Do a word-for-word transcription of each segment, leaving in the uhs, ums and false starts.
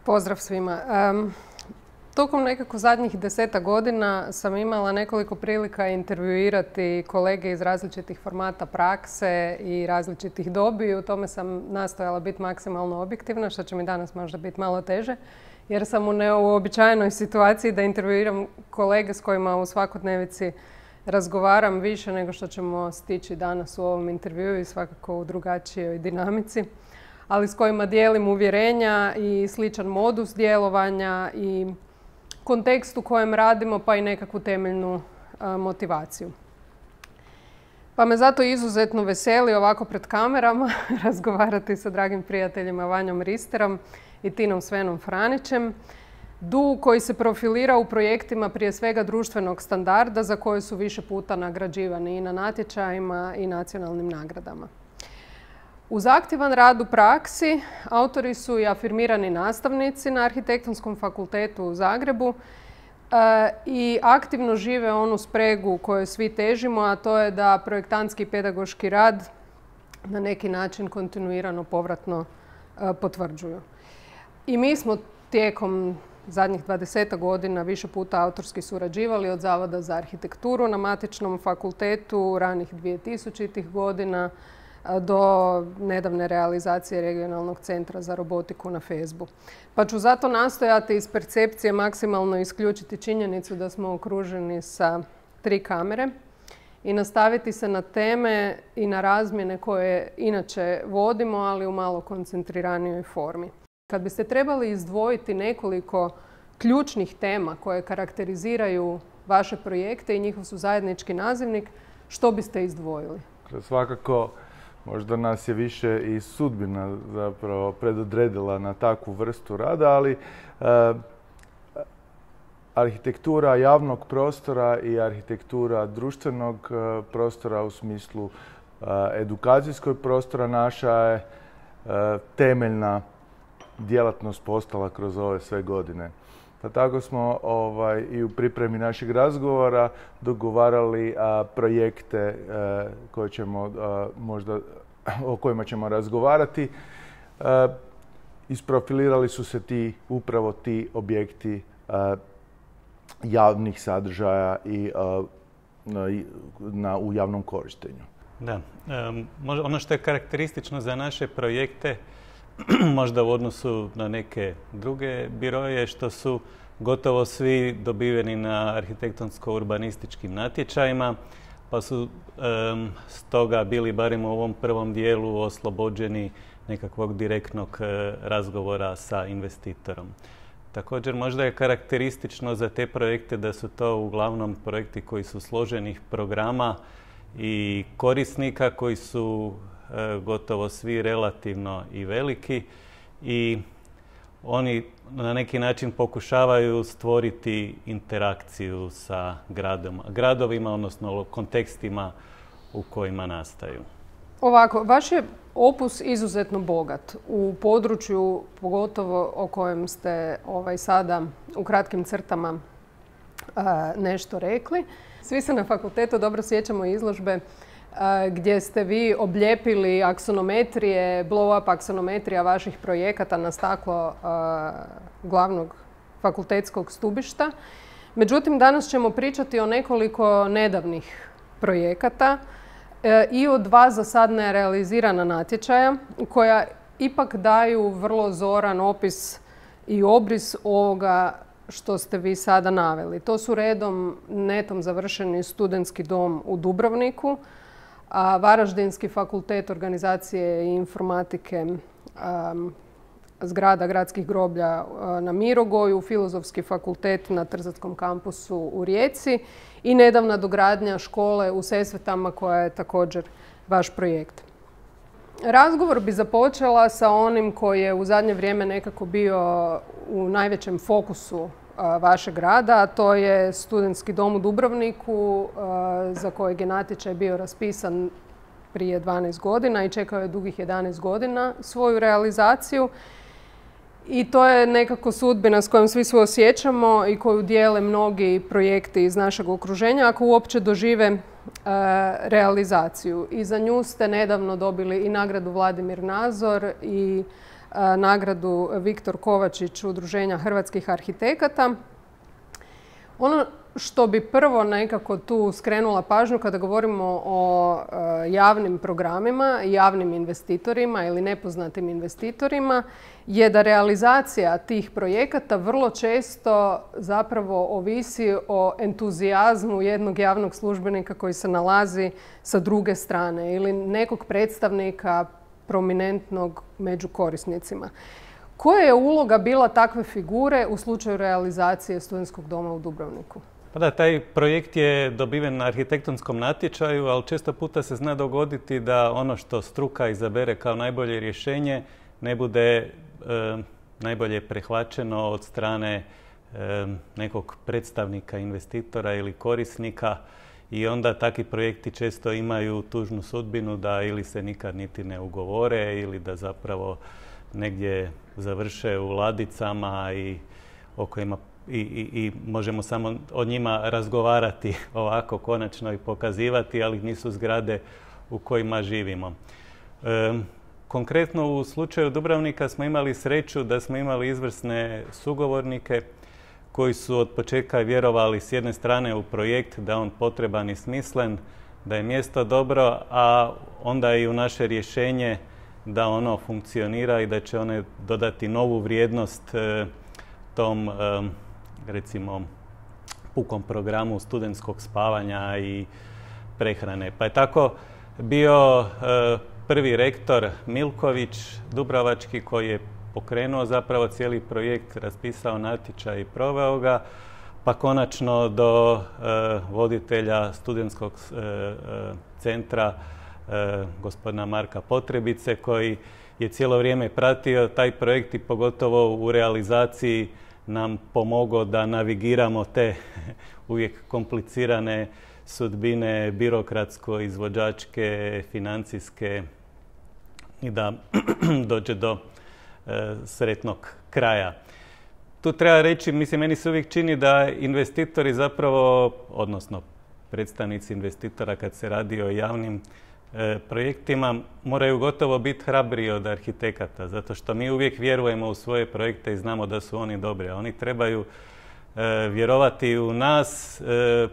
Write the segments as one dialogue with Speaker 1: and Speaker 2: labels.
Speaker 1: Pozdrav svima. Um, tokom nekako zadnjih deseta godina sam imala nekoliko prilika intervjuirati kolege iz različitih formata prakse i različitih dobi i u tome sam nastojala biti maksimalno objektivna, što će mi danas možda biti malo teže, jer sam u neuobičajenoj situaciji da intervjuiram kolege s kojima u svakodnevici razgovaram više nego što ćemo stići danas u ovom intervjuu i svakako u drugačijoj dinamici, ali s kojima dijelim uvjerenja i sličan modus djelovanja i kontekst u kojem radimo, pa i nekakvu temeljnu a, motivaciju. Pa me zato izuzetno veseli ovako pred kamerama razgovarati sa dragim prijateljima Vanjom Risterom i Tinom Svenom Franićem. D U koji se profilira u projektima prije svega društvenog standarda za koje su više puta nagrađivani i na natječajima i nacionalnim nagradama. Uz aktivan rad u praksi, autori su i afirmirani nastavnici na Arhitektonskom fakultetu u Zagrebu e, i aktivno žive onu spregu kojoj svi težimo, a to je da projektantski i pedagoški rad na neki način kontinuirano povratno e, potvrđuju. I mi smo tijekom zadnjih dvadesetak godina više puta autorski surađivali od Zavoda za arhitekturu na matičnom fakultetu ranih dvije-tisućitih godina do nedavne realizacije regionalnog centra za robotiku na Fesbu. Pa ću zato nastojati iz percepcije maksimalno isključiti činjenicu da smo okruženi sa tri kamere i nastaviti se na teme i na razmjene koje inače vodimo, ali u malo koncentriranijoj formi. Kad biste trebali izdvojiti nekoliko ključnih tema koje karakteriziraju vaše projekte i njihov su zajednički nazivnik, što biste izdvojili?
Speaker 2: Svakako, možda nas je više i sudbina zapravo predodredila na takvu vrstu rada, ali e, arhitektura javnog prostora i arhitektura društvenog e, prostora u smislu e, edukacijskog prostora naša je e, temeljna djelatnost postala kroz ove sve godine. Pa tako smo ovaj, i u pripremi našeg razgovora dogovarali a, projekte a, koje ćemo, a, možda, o kojima ćemo razgovarati. A, isprofilirali su se ti, upravo ti objekti a, javnih sadržaja i, a, na, na, u javnom korištenju.
Speaker 3: Da. Um, ono što je karakteristično za naše projekte, možda u odnosu na neke druge biroje, što su gotovo svi dobiveni na arhitektonsko-urbanističkim natječajima, pa su um, stoga bili barem u ovom prvom dijelu oslobođeni nekakvog direktnog uh, razgovora sa investitorom. Također možda je karakteristično za te projekte da su to uglavnom projekti koji su složenih programa i korisnika koji su gotovo svi relativno i veliki i oni na neki način pokušavaju stvoriti interakciju sa gradom, gradovima, odnosno kontekstima u kojima nastaju.
Speaker 1: Ovako, vaš je opus izuzetno bogat u području, pogotovo o kojem ste ovaj, sada u kratkim crtama a, nešto rekli. Svi se na fakultetu dobro sjećamo izložbe gdje ste vi oblijepili aksonometrije, blow-up aksonometrija vaših projekata na staklo uh, glavnog fakultetskog stubišta. Međutim, danas ćemo pričati o nekoliko nedavnih projekata uh, i o dva za sad nerealizirana natječaja koja ipak daju vrlo zoran opis i obris ovoga što ste vi sada naveli. To su redom netom završeni studentski dom u Dubrovniku, a Varaždinski fakultet organizacije i informatike, um, zgrada gradskih groblja uh, na Mirogoju, Filozofski fakultet na Trzatskom kampusu u Rijeci i nedavna dogradnja škole u Sesvetama koja je također vaš projekt. Razgovor bi započela sa onim koji je u zadnje vrijeme nekako bio u najvećem fokusu vašeg rada, a to je studentski dom u Dubrovniku za kojeg je natječaj bio raspisan prije dvanaest godina i čekao je dugih jedanaest godina svoju realizaciju. I to je nekako sudbina s kojom svi suosjećamo i koju dijele mnogi projekti iz našeg okruženja ako uopće dožive realizaciju. I za nju ste nedavno dobili i nagradu Vladimir Nazor i nagradu Viktor Kovačić Udruženja hrvatskih arhitekata. Ono što bi prvo nekako tu skrenula pažnju kada govorimo o javnim programima, javnim investitorima ili nepoznatim investitorima je da realizacija tih projekata vrlo često zapravo ovisi o entuzijazmu jednog javnog službenika koji se nalazi sa druge strane ili nekog predstavnika prominentnog među korisnicima. Koja je uloga bila takve figure u slučaju realizacije Studentskog doma u Dubrovniku?
Speaker 3: Pa da, taj projekt je dobiven na arhitektonskom natječaju, ali često puta se zna dogoditi da ono što struka izabere kao najbolje rješenje ne bude e, najbolje prihvaćeno od strane e, nekog predstavnika investitora ili korisnika i onda takvi projekti često imaju tužnu sudbinu da ili se nikad niti ne ugovore ili da zapravo negdje završe u ladicama i o kojima I, i, i možemo samo o njima razgovarati ovako konačno i pokazivati, ali nisu zgrade u kojima živimo. E, konkretno u slučaju Dubrovnika smo imali sreću da smo imali izvrsne sugovornike koji su od početka vjerovali s jedne strane u projekt da je on potreban i smislen, da je mjesto dobro, a onda i u naše rješenje da ono funkcionira i da će one dodati novu vrijednost e, tom e, recimo pukom programu studentskog spavanja i prehrane. Pa je tako bio e, prvi rektor Milković Dubrovački koji je pokrenuo zapravo cijeli projekt, raspisao natječaj i proveo ga, pa konačno do e, voditelja studentskog e, e, centra e, gospodina Marka Potrebice koji je cijelo vrijeme pratio taj projekt i pogotovo u realizaciji nam pomogao da navigiramo te uvijek komplicirane sudbine birokratsko-izvođačke, financijske i da dođe do e, sretnog kraja. Tu treba reći, mislim, meni se uvijek čini da investitori zapravo, odnosno predstavnici investitora kad se radi o javnim e, projektima, moraju gotovo biti hrabriji od arhitekata, zato što mi uvijek vjerujemo u svoje projekte i znamo da su oni dobri, a oni trebaju e, vjerovati u nas, e,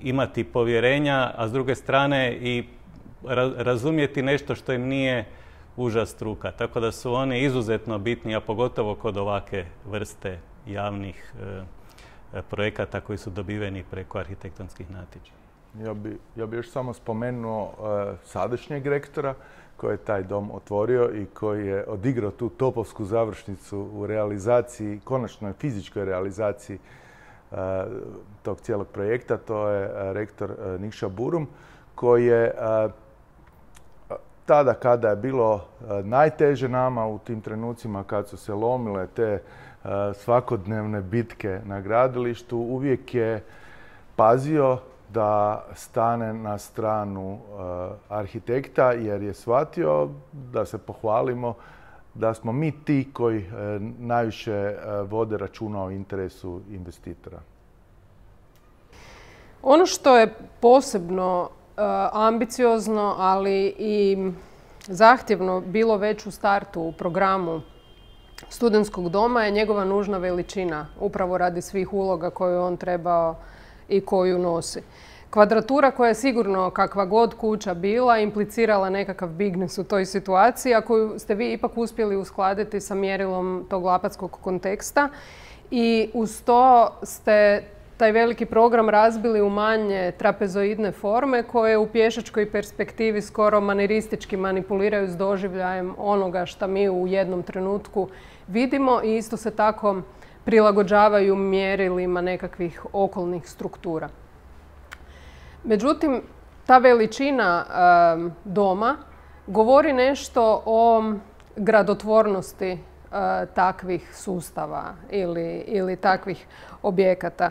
Speaker 3: imati povjerenja, a s druge strane i razumjeti nešto što im nije uža struka. Tako da su oni izuzetno bitni, a pogotovo kod ovake vrste javnih e, projekata koji su dobiveni preko arhitektonskih natječaja.
Speaker 2: Ja bi, ja bi još samo spomenuo uh, sadašnjeg rektora koji je taj dom otvorio i koji je odigrao tu topovsku završnicu u realizaciji, konačnoj fizičkoj realizaciji uh, tog cijelog projekta. To je uh, rektor uh, Nikša Burum koji je uh, tada kada je bilo uh, najteže nama u tim trenucima kad su se lomile te uh, svakodnevne bitke na gradilištu, uvijek je pazio da stane na stranu uh, arhitekta jer je shvatio, da se pohvalimo, da smo mi ti koji uh, najviše uh, vode računa o interesu investitora.
Speaker 1: Ono što je posebno uh, ambiciozno, ali i zahtjevno bilo već u startu u programu Studentskog doma je njegova nužna veličina, upravo radi svih uloga koju on trebao i koju nosi. Kvadratura koja je sigurno, kakva god kuća bila, implicirala nekakav bigness u toj situaciji, a koju ste vi ipak uspjeli uskladiti sa mjerilom tog lapatskog konteksta. I uz to ste taj veliki program razbili u manje trapezoidne forme koje u pješačkoj perspektivi skoro maniristički manipuliraju s doživljajem onoga što mi u jednom trenutku vidimo i isto se tako prilagođavaju mjerilima nekakvih okolnih struktura. Međutim, ta veličina e, doma govori nešto o gradotvornosti e, takvih sustava ili, ili takvih objekata.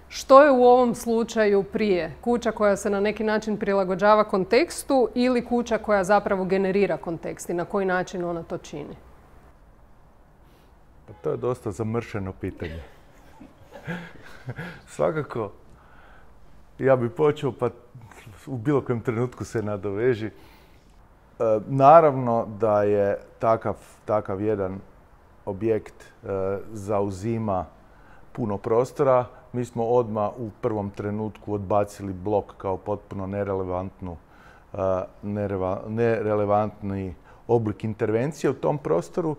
Speaker 1: Što je u ovom slučaju prije? Kuća koja se na neki način prilagođava kontekstu ili kuća koja zapravo generira kontekst i na koji način ona to čini?
Speaker 2: To je dosta zamršeno pitanje. Svakako, ja bih počeo, pa u bilo kojem trenutku se nadoveži. naravno da je takav, takav jedan objekt e, zauzima puno prostora. Mi smo odmah u prvom trenutku odbacili blok kao potpuno nerelevantnu, e, nereva, nerelevantni oblik intervencije u tom prostoru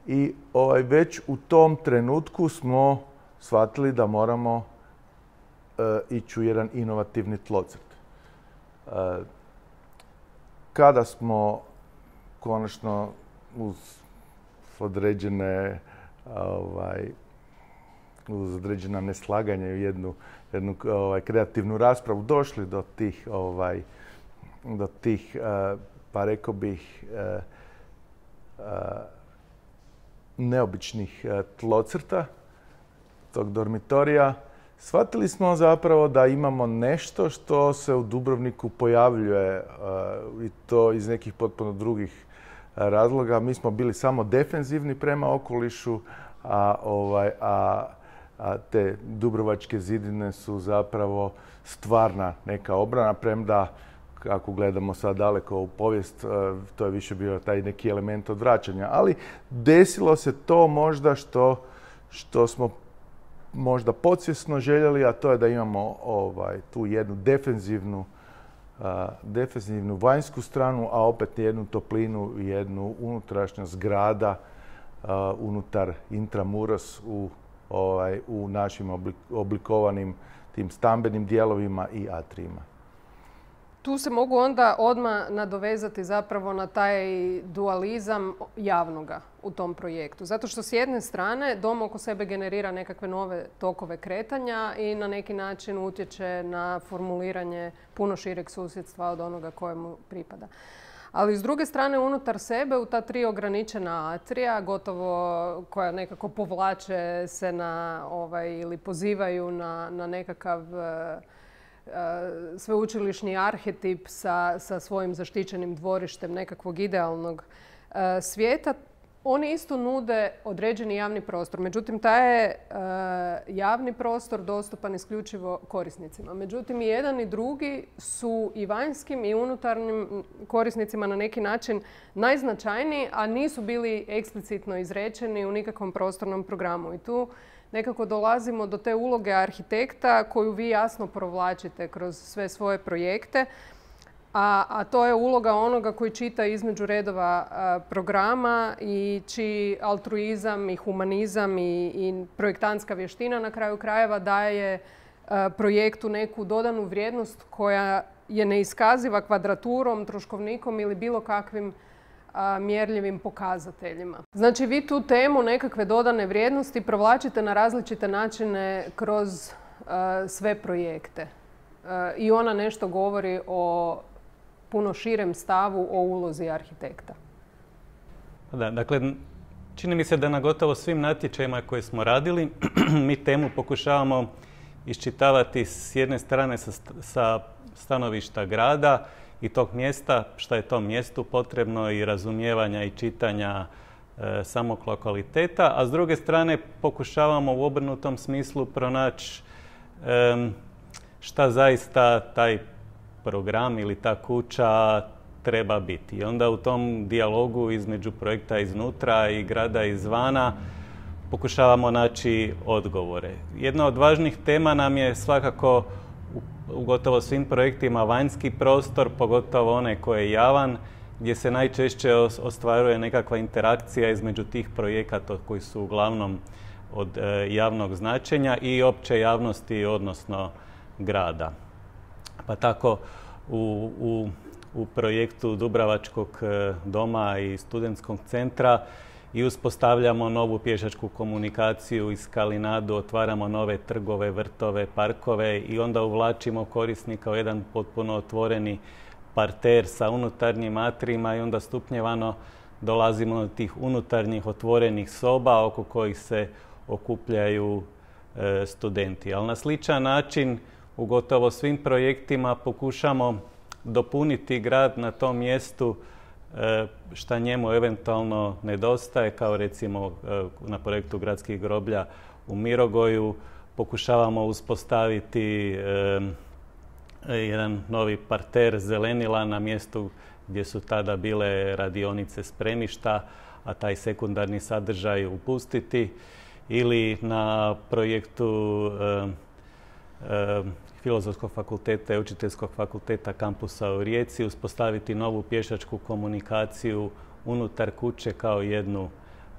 Speaker 2: i ovaj, već u tom trenutku smo shvatili da moramo e, ići u jedan inovativni tlocrt. E, kada smo konačno uz određene ovaj, uz određena neslaganja i jednu, jednu ovaj, kreativnu raspravu došli do tih, ovaj, do tih uh, pa rekao bih, uh, uh, neobičnih uh, tlocrta tog dormitorija, shvatili smo zapravo da imamo nešto što se u Dubrovniku pojavljuje uh, i to iz nekih potpuno drugih razloga. Mi smo bili samo defenzivni prema okolišu, a, ovaj, a, a te dubrovačke zidine su zapravo stvarna neka obrana, premda ako gledamo sad daleko u povijest, to je više bio taj neki element odvraćanja. Ali desilo se to možda što, što smo možda podsvjesno željeli, a to je da imamo ovaj, tu jednu defenzivnu Uh, defenzivnu vanjsku stranu, a opet jednu toplinu i jednu unutrašnjost grada uh, unutar intramuros u, ovaj, u našim oblik, oblikovanim tim stambenim dijelovima i atrijima.
Speaker 1: Tu se mogu onda odmah nadovezati zapravo na taj dualizam javnoga u tom projektu. Zato što s jedne strane dom oko sebe generira nekakve nove tokove kretanja i na neki način utječe na formuliranje puno šireg susjedstva od onoga kojemu pripada. Ali s druge strane unutar sebe u ta tri ograničena atrija, gotovo koja nekako povlače se na ovaj, ili pozivaju na, na nekakav sveučilišni arhetip sa, sa svojim zaštićenim dvorištem nekakvog idealnog uh, svijeta, oni isto nude određeni javni prostor. Međutim, taj je uh, javni prostor dostupan isključivo korisnicima. Međutim, i jedan i drugi su i vanjskim i unutarnjim korisnicima na neki način najznačajniji, a nisu bili eksplicitno izrečeni u nikakvom prostornom programu. I tu nekako dolazimo do te uloge arhitekta koju vi jasno provlačite kroz sve svoje projekte, a, a to je uloga onoga koji čita između redova a, programa i čiji altruizam i humanizam i, i projektantska vještina na kraju krajeva daje a, projektu neku dodanu vrijednost koja je neiskaziva kvadraturom, troškovnikom ili bilo kakvim mjerljivim pokazateljima. Znači, vi tu temu nekakve dodane vrijednosti provlačite na različite načine kroz uh, sve projekte. Uh, I ona nešto govori o puno širem stavu o ulozi arhitekta.
Speaker 3: Da, dakle, čini mi se da na gotovo svim natječajima koje smo radili, mi temu pokušavamo iščitavati s jedne strane sa, sa stanovišta grada i tog mjesta, šta je tom mjestu potrebno i razumijevanja i čitanja e, samog lokaliteta, a s druge strane pokušavamo u obrnutom smislu pronaći e, šta zaista taj program ili ta kuća treba biti. I onda u tom dijalogu između projekta iznutra i grada izvana pokušavamo naći odgovore. Jedna od važnih tema nam je svakako u gotovo svim projektima vanjski prostor, pogotovo onaj koji je javan, gdje se najčešće ostvaruje nekakva interakcija između tih projekata koji su uglavnom od javnog značenja i opće javnosti, odnosno grada. Pa tako u, u, u projektu Dubravačkog doma i studentskog centra i uspostavljamo novu pješačku komunikaciju iz Kalinadu, otvaramo nove trgove, vrtove, parkove i onda uvlačimo korisnika u jedan potpuno otvoreni parter sa unutarnjim atrijima i onda stupnjevano dolazimo do tih unutarnjih otvorenih soba oko kojih se okupljaju e, studenti. Ali na sličan način u gotovo svim projektima pokušamo dopuniti grad na tom mjestu šta njemu eventualno nedostaje, kao recimo na projektu Gradskih groblja u Mirogoju pokušavamo uspostaviti jedan novi parter zelenila na mjestu gdje su tada bile radionice spremišta, a taj sekundarni sadržaj upustiti, ili na projektu e, e, Filozofskog fakulteta i Učiteljskog fakulteta kampusa u Rijeci uspostaviti novu pješačku komunikaciju unutar kuće kao jednu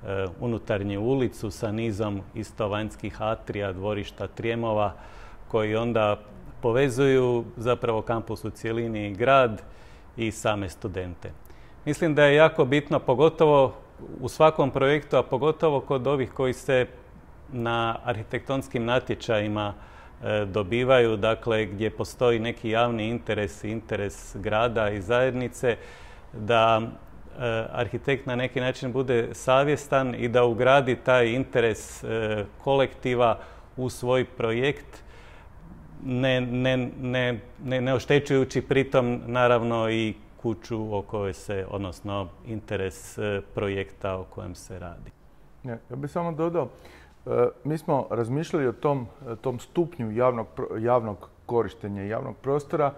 Speaker 3: e, unutarnju ulicu sa nizom isto vanjskih atrija, dvorišta, trijemova koji onda povezuju zapravo kampus u cjelini i grad i same studente. Mislim da je jako bitno, pogotovo u svakom projektu, a pogotovo kod ovih koji se na arhitektonskim natječajima e, dobivaju, dakle gdje postoji neki javni interes, interes grada i zajednice, da e, arhitekt na neki način bude savjestan i da ugradi taj interes e, kolektiva u svoj projekt, ne, ne, ne, ne, ne oštećujući pritom naravno i kuću o kojoj se, odnosno interes projekta o kojem se radi.
Speaker 2: Ja, ja bih samo dodao, mi smo razmišljali o tom, tom stupnju javnog, javnog korištenja javnog prostora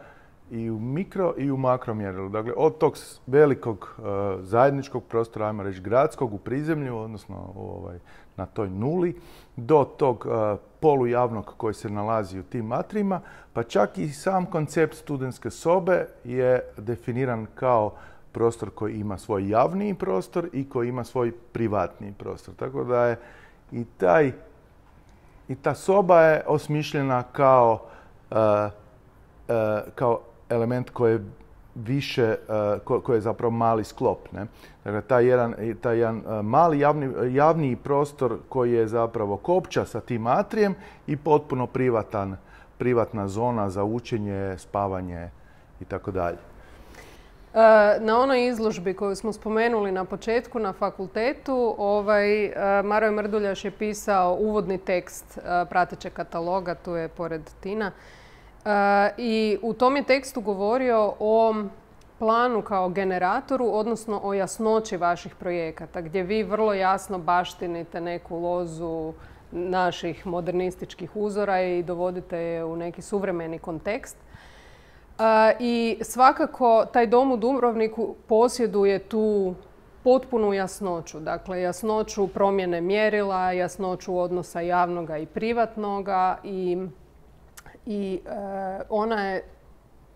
Speaker 2: i u mikro i u makro mjerilu. Dakle, od tog velikog zajedničkog prostora, ajmo reći gradskog u prizemlju, odnosno ovaj, na toj nuli, do tog polujavnog koji se nalazi u tim atrijima, pa čak i sam koncept studentske sobe je definiran kao prostor koji ima svoj javni prostor i koji ima svoj privatni prostor. Tako da je i, taj, i ta soba je osmišljena kao, uh, uh, kao element koji je više, uh, ko, koji je zapravo mali sklop. Ne? Dakle, taj jedan, taj jedan uh, mali javni, javni prostor koji je zapravo kopča sa tim atrijem i potpuno privatan, privatna zona za učenje, spavanje i tako dalje.
Speaker 1: Na onoj izložbi koju smo spomenuli na početku na fakultetu, ovaj, Maroje Mrduljaš je pisao uvodni tekst pratećeg kataloga, tu je pored Tina. I u tom je tekstu govorio o planu kao generatoru, odnosno o jasnoći vaših projekata, gdje vi vrlo jasno baštinite neku lozu naših modernističkih uzora i dovodite je u neki suvremeni kontekst. I svakako taj dom u Dubrovniku posjeduje tu potpunu jasnoću. Dakle, jasnoću promjene mjerila, jasnoću odnosa javnoga i privatnoga i, i e, ona je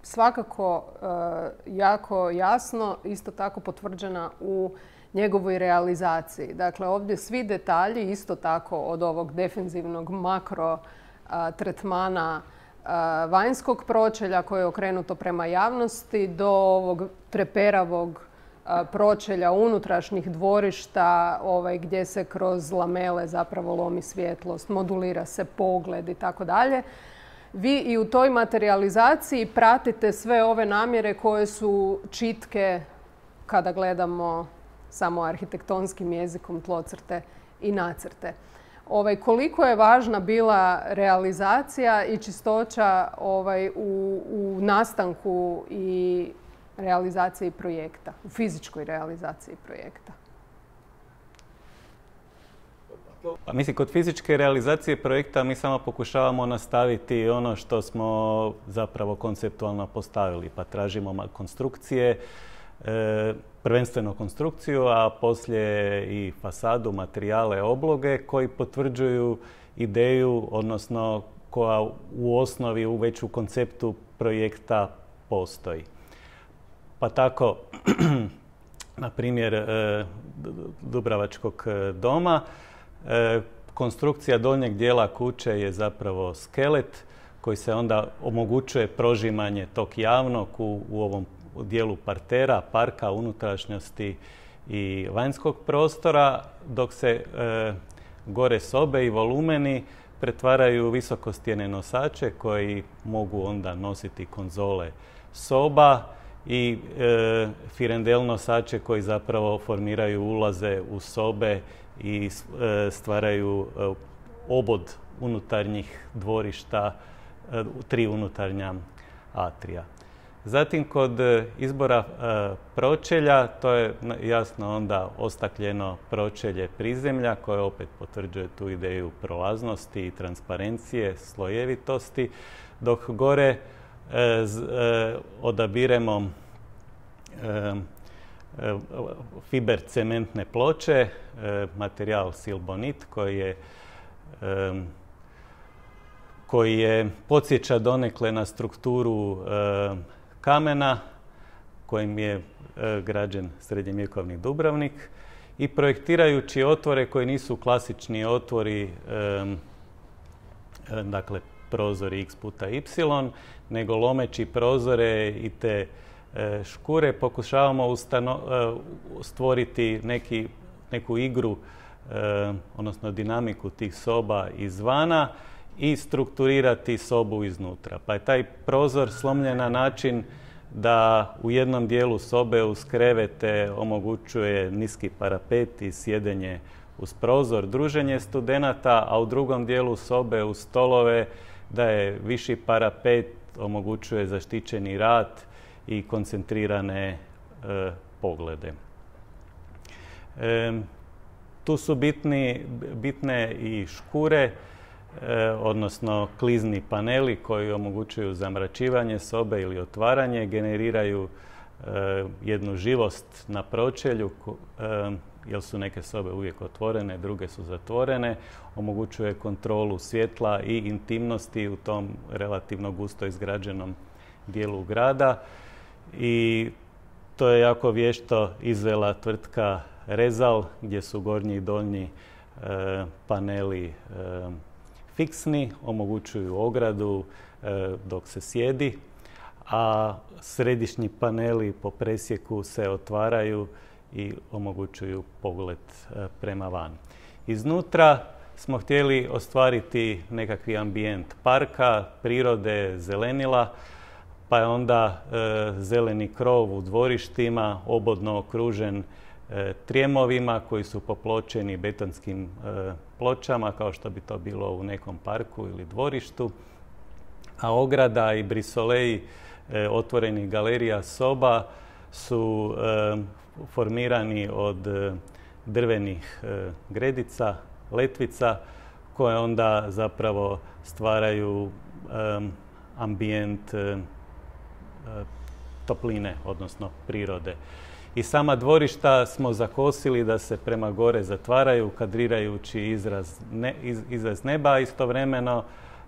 Speaker 1: svakako e, jako jasno, isto tako potvrđena u njegovoj realizaciji. Dakle, ovdje svi detalji, isto tako od ovog defenzivnog makro a, tretmana vanjskog pročelja koje je okrenuto prema javnosti do ovog treperavog pročelja unutrašnjih dvorišta ovaj, gdje se kroz lamele zapravo lomi svjetlost, modulira se pogled i tako dalje. Vi i u toj materijalizaciji pratite sve ove namjere koje su čitke kada gledamo samo arhitektonskim jezikom tlocrte i nacrte. Ovaj, koliko je važna bila realizacija i čistoća ovaj, u, u nastanku i realizaciji projekta, u fizičkoj realizaciji projekta?
Speaker 3: Pa, mislim, kod fizičke realizacije projekta mi samo pokušavamo nastaviti ono što smo zapravo konceptualno postavili, pa tražimo konstrukcije, e, prvenstveno konstrukciju, a poslije i fasadu, materijale, obloge koji potvrđuju ideju, odnosno koja u osnovi u već u konceptu projekta postoji. Pa tako, na primjer, Dubravačkog doma, konstrukcija donjeg dijela kuće je zapravo skelet koji se onda omogućuje prožimanje tog javnog u, u ovom dijelu partera, parka, unutrašnjosti i vanjskog prostora, dok se e, gore sobe i volumeni pretvaraju u visokostjene nosače koji mogu onda nositi konzole soba i e, firendel nosače koji zapravo formiraju ulaze u sobe i e, stvaraju e, obod unutarnjih dvorišta, e, tri unutarnja atrija. Zatim, kod izbora e, pročelja, to je jasno onda ostakljeno pročelje prizemlja koje opet potvrđuje tu ideju prolaznosti i transparencije, slojevitosti, dok gore e, z, e, odabiremo fiber cementne ploče, materijal Silbonit koji je koji je podsjeća donekle na strukturu kamena kojim je građen srednjevjekovni Dubrovnik i projektirajući otvore koji nisu klasični otvori, dakle prozori x puta y, nego lomeći prozore i te škure pokušavamo stvoriti neki, neku igru, odnosno dinamiku tih soba izvana i strukturirati sobu iznutra. Pa je taj prozor slomljen na način da u jednom dijelu sobe uz krevete omogućuje niski parapet i sjedenje uz prozor, druženje studenata, a u drugom dijelu sobe uz stolove da je viši parapet, omogućuje zaštićeni rad i koncentrirane e, poglede. E, tu su bitni, bitne i škure, e, odnosno klizni paneli koji omogućuju zamračivanje sobe ili otvaranje, generiraju e, jednu živost na pročelju, e, jer su neke sobe uvijek otvorene, druge su zatvorene, omogućuje kontrolu svjetla i intimnosti u tom relativno gusto izgrađenom dijelu grada. I to je jako vješto izvela tvrtka Rezal, gdje su gornji i donji e, paneli e, fiksni, omogućuju ogradu e, dok se sjedi, a središnji paneli po presjeku se otvaraju i omogućuju pogled e, prema van. Iznutra smo htjeli ostvariti nekakvi ambijent parka, prirode, zelenila, pa je onda e, zeleni krov u dvorištima obodno okružen e, trijemovima koji su popločeni betonskim e, pločama, kao što bi to bilo u nekom parku ili dvorištu. A ograda i brisoleji e, otvorenih galerija soba su e, formirani od e, drvenih e, gredica, letvica, koje onda zapravo stvaraju e, ambijent e, topline, odnosno prirode. I sama dvorišta smo zakosili da se prema gore zatvaraju, kadrirajući izraz, ne, iz, izraz neba, a istovremeno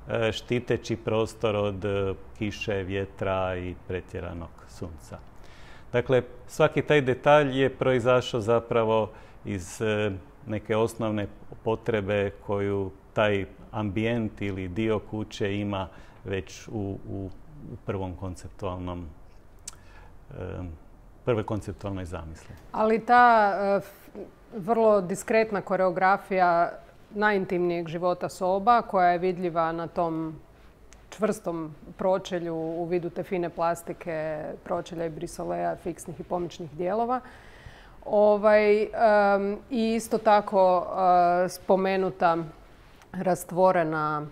Speaker 3: e, štiteći prostor od e, kiše, vjetra i pretjeranog sunca. Dakle, svaki taj detalj je proizašao zapravo iz e, neke osnovne potrebe koju taj ambijent ili dio kuće ima već u, u u prvom konceptualnom, prve konceptualnoj zamisli.
Speaker 1: Ali ta vrlo diskretna koreografija najintimnijeg života soba, koja je vidljiva na tom čvrstom pročelju u vidu te fine plastike, pročelja i brisoleja, fiksnih i pomoćnih dijelova. Ovaj, um, I isto tako uh, spomenuta rastvorena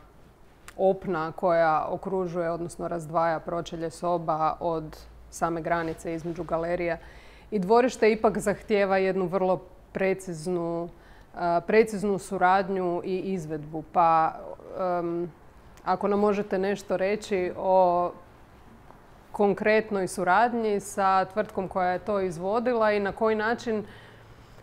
Speaker 1: opna koja okružuje, odnosno razdvaja pročelje soba od same granice između galerija i dvorišta ipak zahtijeva jednu vrlo preciznu, uh, preciznu suradnju i izvedbu. Pa um, ako nam možete nešto reći o konkretnoj suradnji sa tvrtkom koja je to izvodila i na koji način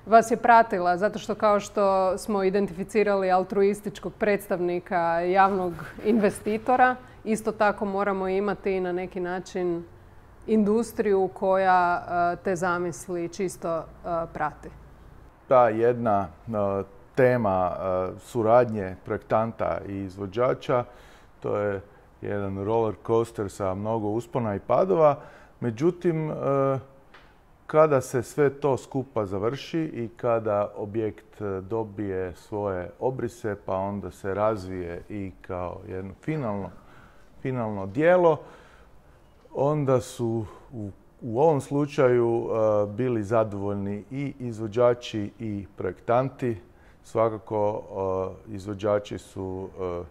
Speaker 1: vas je pratila, zato što kao što smo identificirali altruističkog predstavnika javnog investitora, isto tako moramo imati i na neki način industriju koja te zamisli čisto prati.
Speaker 2: Ta jedna tema suradnje projektanta i izvođača, to je jedan roller coaster sa mnogo uspona i padova. Međutim, kada se sve to skupa završi i kada objekt dobije svoje obrise, pa onda se razvije i kao jedno finalno, finalno djelo, onda su u, u ovom slučaju uh, bili zadovoljni i izvođači i projektanti. Svakako uh, izvođači su uh,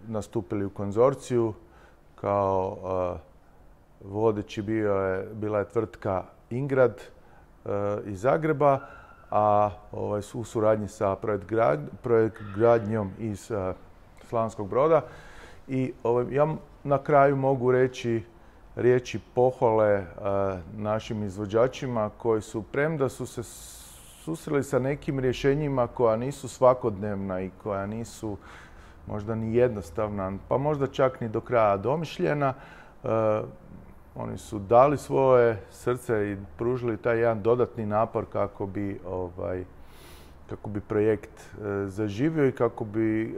Speaker 2: nastupili u konzorciju. Kao uh, vodeći bio je, bila je tvrtka Ingrad uh, iz Zagreba, a ovaj, u suradnji sa projekt, grad, projekt gradnjom iz uh, Slavonskog Broda. I ovaj, ja na kraju mogu reći riječi pohvale našim izvođačima koji su, premda su se susreli sa nekim rješenjima koja nisu svakodnevna i koja nisu možda ni jednostavna, pa možda čak ni do kraja domišljena, oni su dali svoje srce i pružili taj jedan dodatni napor kako bi, ovaj, kako bi projekt zaživio i kako bi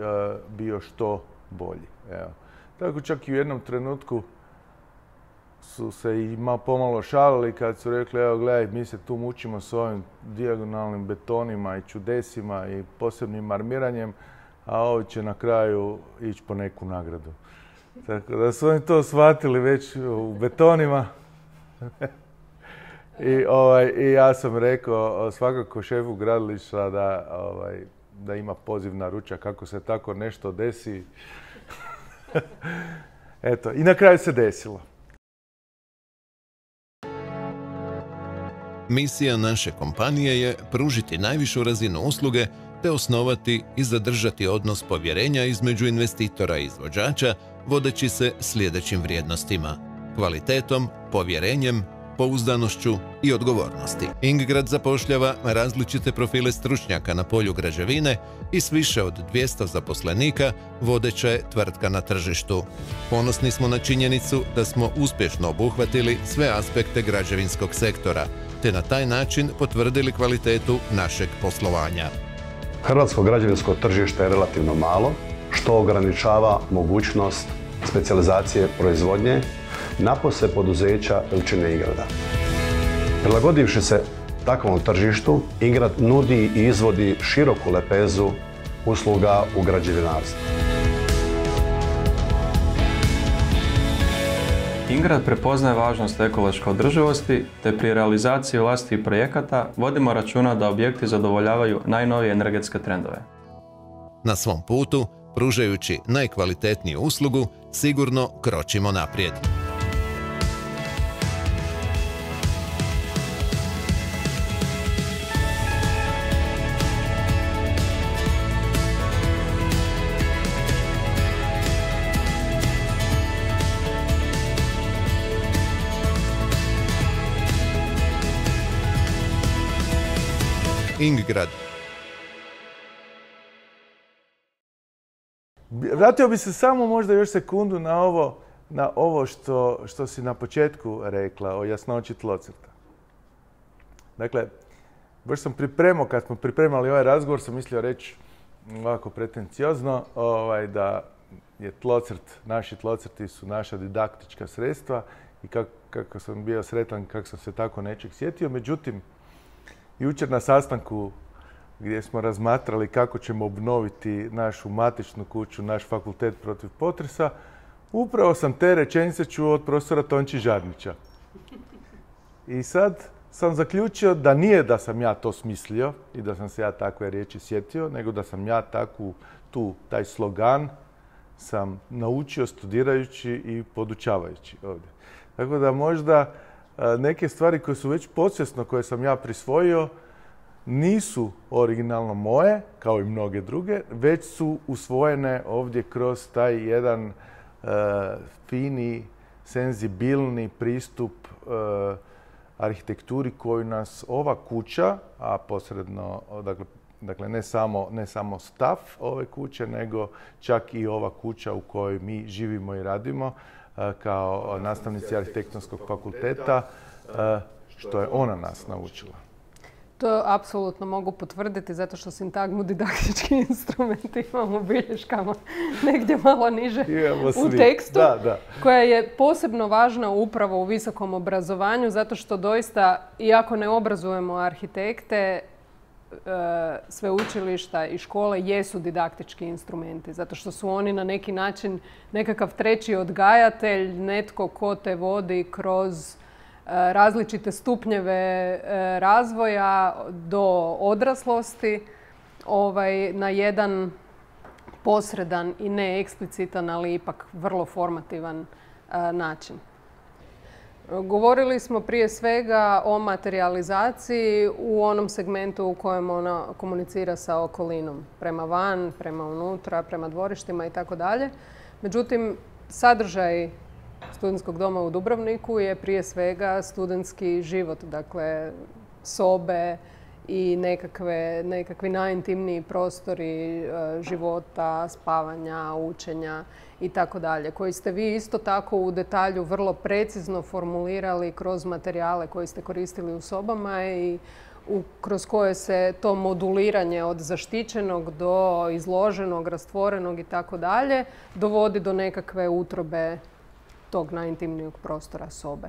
Speaker 2: bio što bolji. Evo. Tako čak i u jednom trenutku su se i pomalo šalili kad su rekli, evo gledaj, mi se tu mučimo s ovim dijagonalnim betonima i čudesima i posebnim armiranjem, a ovi će na kraju ići po neku nagradu. Tako da su oni to shvatili već u betonima. I, ovaj, I ja sam rekao svakako šefu gradilišta da, ovaj, da ima poziv na ručak kako se tako nešto desi. Eto, i na kraju se desilo.
Speaker 4: Misija naše kompanije je pružiti najvišu razinu usluge te osnovati i zadržati odnos povjerenja između investitora i izvođača, vodeći se sljedećim vrijednostima: kvalitetom, povjerenjem, pouzdanošću i odgovornosti. Ingrad zapošljava različite profile stručnjaka na polju građevine i s više od dvjesto zaposlenika vodeća je tvrtka na tržištu. Ponosni smo na činjenicu da smo uspješno obuhvatili sve aspekte građevinskog sektora, te na taj način potvrdili kvalitetu našeg poslovanja.
Speaker 5: Hrvatsko građevinsko tržište je relativno malo, što ograničava mogućnost specijalizacije proizvodnje, napose poduzeća veličine Ingrada. Prilagodivši se takvom tržištu, Ingrad nudi i izvodi široku lepezu usluga u građevinarstvu.
Speaker 6: Ingrad prepoznaje važnost ekološke održivosti, te pri realizaciji vlastitih projekata vodimo računa da objekti zadovoljavaju najnovije energetske trendove.
Speaker 4: Na svom putu, pružajući najkvalitetniju uslugu, sigurno kročimo naprijed. Ingrad.
Speaker 2: Vratio bi se samo možda još sekundu na ovo, na ovo što, što si na početku rekla o jasnoći tlocrta. Dakle, baš sam pripremao, kad smo pripremali ovaj razgovor, sam mislio reći ovako pretenciozno ovaj, da je tlocrt, naši tlocrti su naša didaktička sredstva i kako, kako sam bio sretan, kako sam se tako nečeg sjetio. Međutim, jučer na sastanku gdje smo razmatrali kako ćemo obnoviti našu matičnu kuću, naš fakultet protiv potresa, upravo sam te rečenice čuo od profesora Tonči Žarnića. I sad sam zaključio da nije da sam ja to smislio i da sam se ja takve riječi sjetio, nego da sam ja takvu, tu, taj slogan sam naučio studirajući i podučavajući ovdje. Tako da možda neke stvari koje su već podsvjesno, koje sam ja prisvojio, nisu originalno moje, kao i mnoge druge, već su usvojene ovdje kroz taj jedan uh, fini, senzibilni pristup uh, arhitekturi koju nas ova kuća, a posredno, dakle, dakle ne, samo, ne samo stav ove kuće, nego čak i ova kuća u kojoj mi živimo i radimo, uh, kao nastavnici arhitektonskog fakulteta, uh, što je ona nas naučila.
Speaker 1: To apsolutno mogu potvrditi zato što sintagmu didaktički instrumenti imamo u bilješkama negdje malo niže u tekstu,
Speaker 2: da, da.
Speaker 1: koja je posebno važna upravo u visokom obrazovanju zato što doista, iako ne obrazujemo arhitekte, sveučilišta i škole jesu didaktički instrumenti zato što su oni na neki način nekakav treći odgajatelj, netko ko te vodi kroz različite stupnjeve razvoja do odraslosti ovaj, na jedan posredan i ne eksplicitan, ali ipak vrlo formativan način. Govorili smo prije svega o materijalizaciji u onom segmentu u kojem ona komunicira sa okolinom, prema van, prema unutra, prema dvorištima i tako dalje. Međutim, sadržaj studentskog doma u Dubrovniku je prije svega studentski život, dakle sobe i nekakve, nekakvi najintimniji prostori e, života, spavanja, učenja i tako dalje, koji ste vi isto tako u detalju vrlo precizno formulirali kroz materijale koje ste koristili u sobama i u, kroz koje se to moduliranje od zaštićenog do izloženog, rastvorenog i tako dalje dovodi do nekakve utrobe tog najintimnijeg prostora sobe.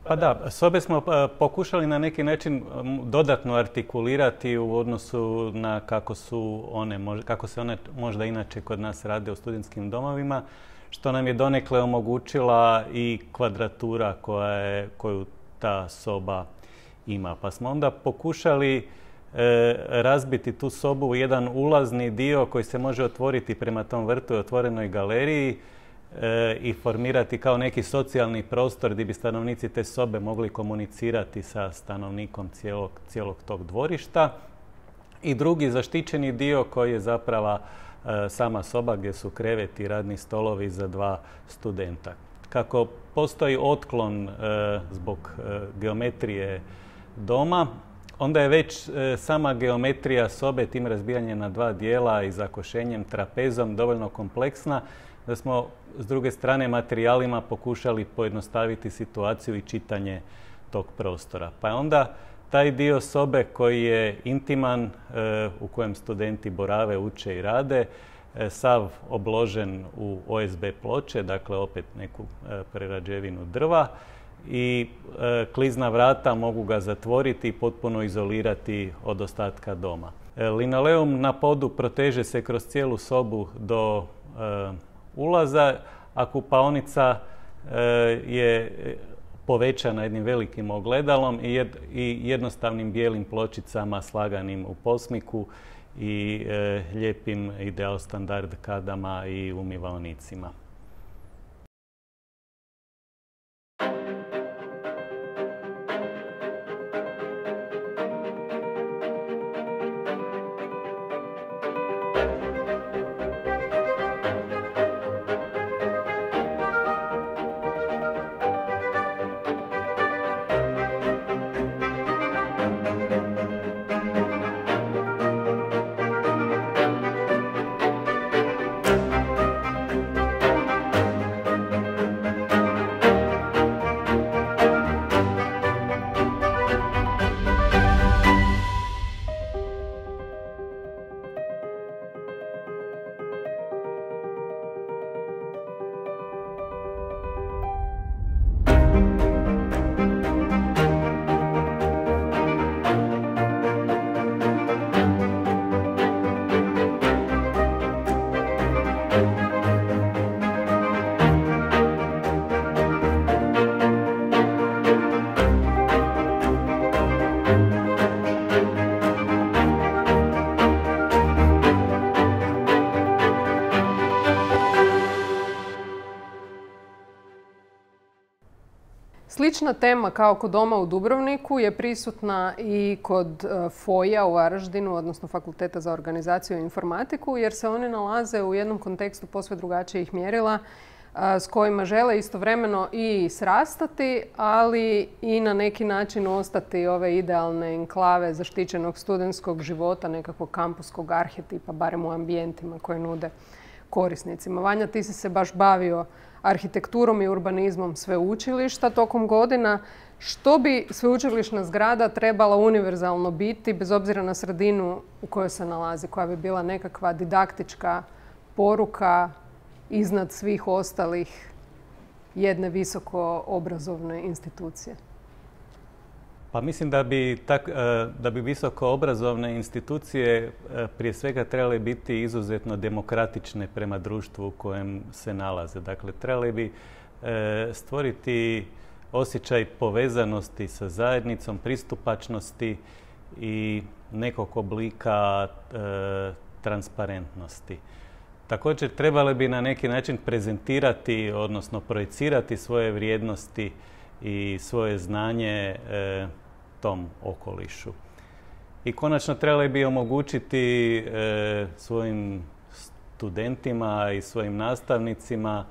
Speaker 3: Pa da, sobe smo pokušali na neki način dodatno artikulirati u odnosu na kako su one, kako se one možda inače kod nas rade u studentskim domovima, što nam je donekle omogućila i kvadratura koja je, koju ta soba ima. Pa smo onda pokušali e, razbiti tu sobu u jedan ulazni dio koji se može otvoriti prema tom vrtu i otvorenoj galeriji e, i formirati kao neki socijalni prostor gdje bi stanovnici te sobe mogli komunicirati sa stanovnikom cijelog, cijelog tog dvorišta. I drugi zaštićeni dio koji je zapravo sama soba gdje su kreveti i radni stolovi za dva studenta. Kako postoji otklon e, zbog e, geometrije doma, onda je već e, sama geometrija sobe tim razbijanjem na dva dijela i zakošenjem trapezom dovoljno kompleksna da smo s druge strane materijalima pokušali pojednostaviti situaciju i čitanje tog prostora. Pa je onda taj dio sobe koji je intiman, e, u kojem studenti borave, uče i rade, e, sav obložen u O S B ploče, dakle opet neku e, prerađevinu drva i e, klizna vrata mogu ga zatvoriti i potpuno izolirati od ostatka doma. E, linoleum na podu proteže se kroz cijelu sobu do e, ulaza, a kupaonica e, je povećana jednim velikim ogledalom i, jed, i jednostavnim bijelim pločicama slaganim u posmiku i e, lijepim ideal standard kadama i umivaonicima.
Speaker 1: Slična tema kao kod doma u Dubrovniku je prisutna i kod FOI-a u Varaždinu, odnosno Fakulteta za organizaciju i informatiku, jer se oni nalaze u jednom kontekstu posve drugačijih mjerila s kojima žele istovremeno i srastati, ali i na neki način ostati ove idealne enklave zaštićenog studentskog života, nekakvog kampuskog arhetipa, barem u ambijentima koje nude korisnicima. Vanja, ti si se baš bavio arhitekturom i urbanizmom sveučilišta tokom godina. Što bi sveučilišna zgrada trebala univerzalno biti, bez obzira na sredinu u kojoj se nalazi, koja bi bila nekakva didaktička poruka iznad svih ostalih jedne visoko obrazovne institucije?
Speaker 3: Pa mislim da bi, tak, da bi visoko obrazovne institucije prije svega trebale biti izuzetno demokratične prema društvu u kojem se nalaze. Dakle, trebali bi stvoriti osjećaj povezanosti sa zajednicom, pristupačnosti i nekog oblika transparentnosti. Također trebale bi na neki način prezentirati, odnosno projicirati svoje vrijednosti i svoje znanje e, tom okolišu. I konačno trebali bi omogućiti e, svojim studentima i svojim nastavnicima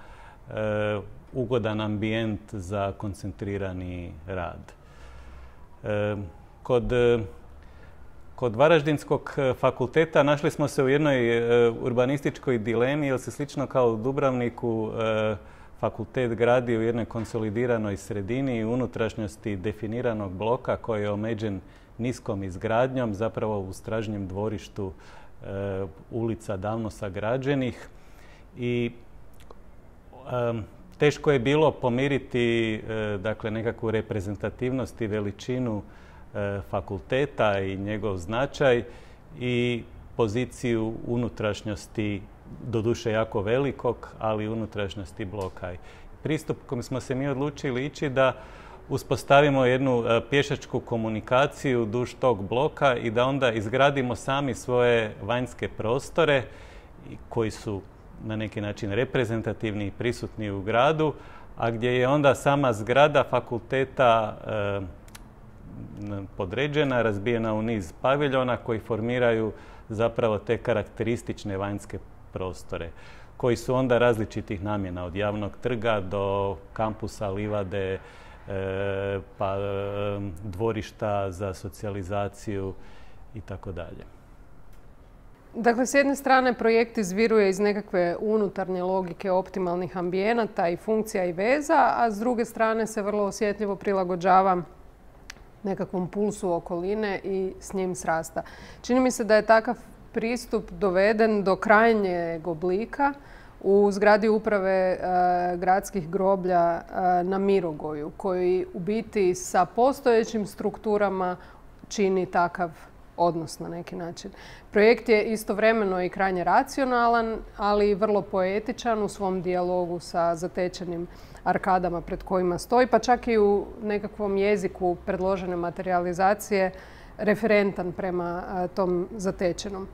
Speaker 3: ugodan ambijent za koncentrirani rad. Kod, kod Varaždinskog fakulteta našli smo se u jednoj urbanističkoj dilemi, jer se slično kao u Dubrovniku fakultet gradi u jednoj konsolidiranoj sredini i unutrašnjosti definiranog bloka koji je omeđen niskom izgradnjom, zapravo u stražnjem dvorištu e, ulica davno sagrađenih. I e, teško je bilo pomiriti e, dakle, nekakvu reprezentativnost i veličinu e, fakulteta i njegov značaj i poziciju unutrašnjosti, doduše jako velikog, ali unutrašnjosti bloka. Pristup kojim smo se mi odlučili ići da uspostavimo jednu pješačku komunikaciju duž tog bloka i da onda izgradimo sami svoje vanjske prostore koji su na neki način reprezentativni i prisutni u gradu, a gdje je onda sama zgrada fakulteta eh, podređena, razbijena u niz paviljona koji formiraju zapravo te karakteristične vanjske prostore, koji su onda različitih namjena, od javnog trga do kampusa, livade, e, pa e, dvorišta za socijalizaciju i tako dalje.
Speaker 1: Dakle, s jedne strane projekt izviruje iz nekakve unutarnje logike optimalnih ambijenata i funkcija i veza, a s druge strane se vrlo osjetljivo prilagođava nekakvom pulsu okoline i s njim srasta. Čini mi se da je takav pristup doveden do krajnjeg oblika u zgradi uprave e, gradskih groblja e, na Mirogoju, koji u biti sa postojećim strukturama čini takav odnos na neki način. Projekt je istovremeno i krajnje racionalan, ali i vrlo poetičan u svom dijalogu sa zatečenim arkadama pred kojima stoji, pa čak i u nekakvom jeziku predložene materijalizacije referentan prema a, tom zatečenom.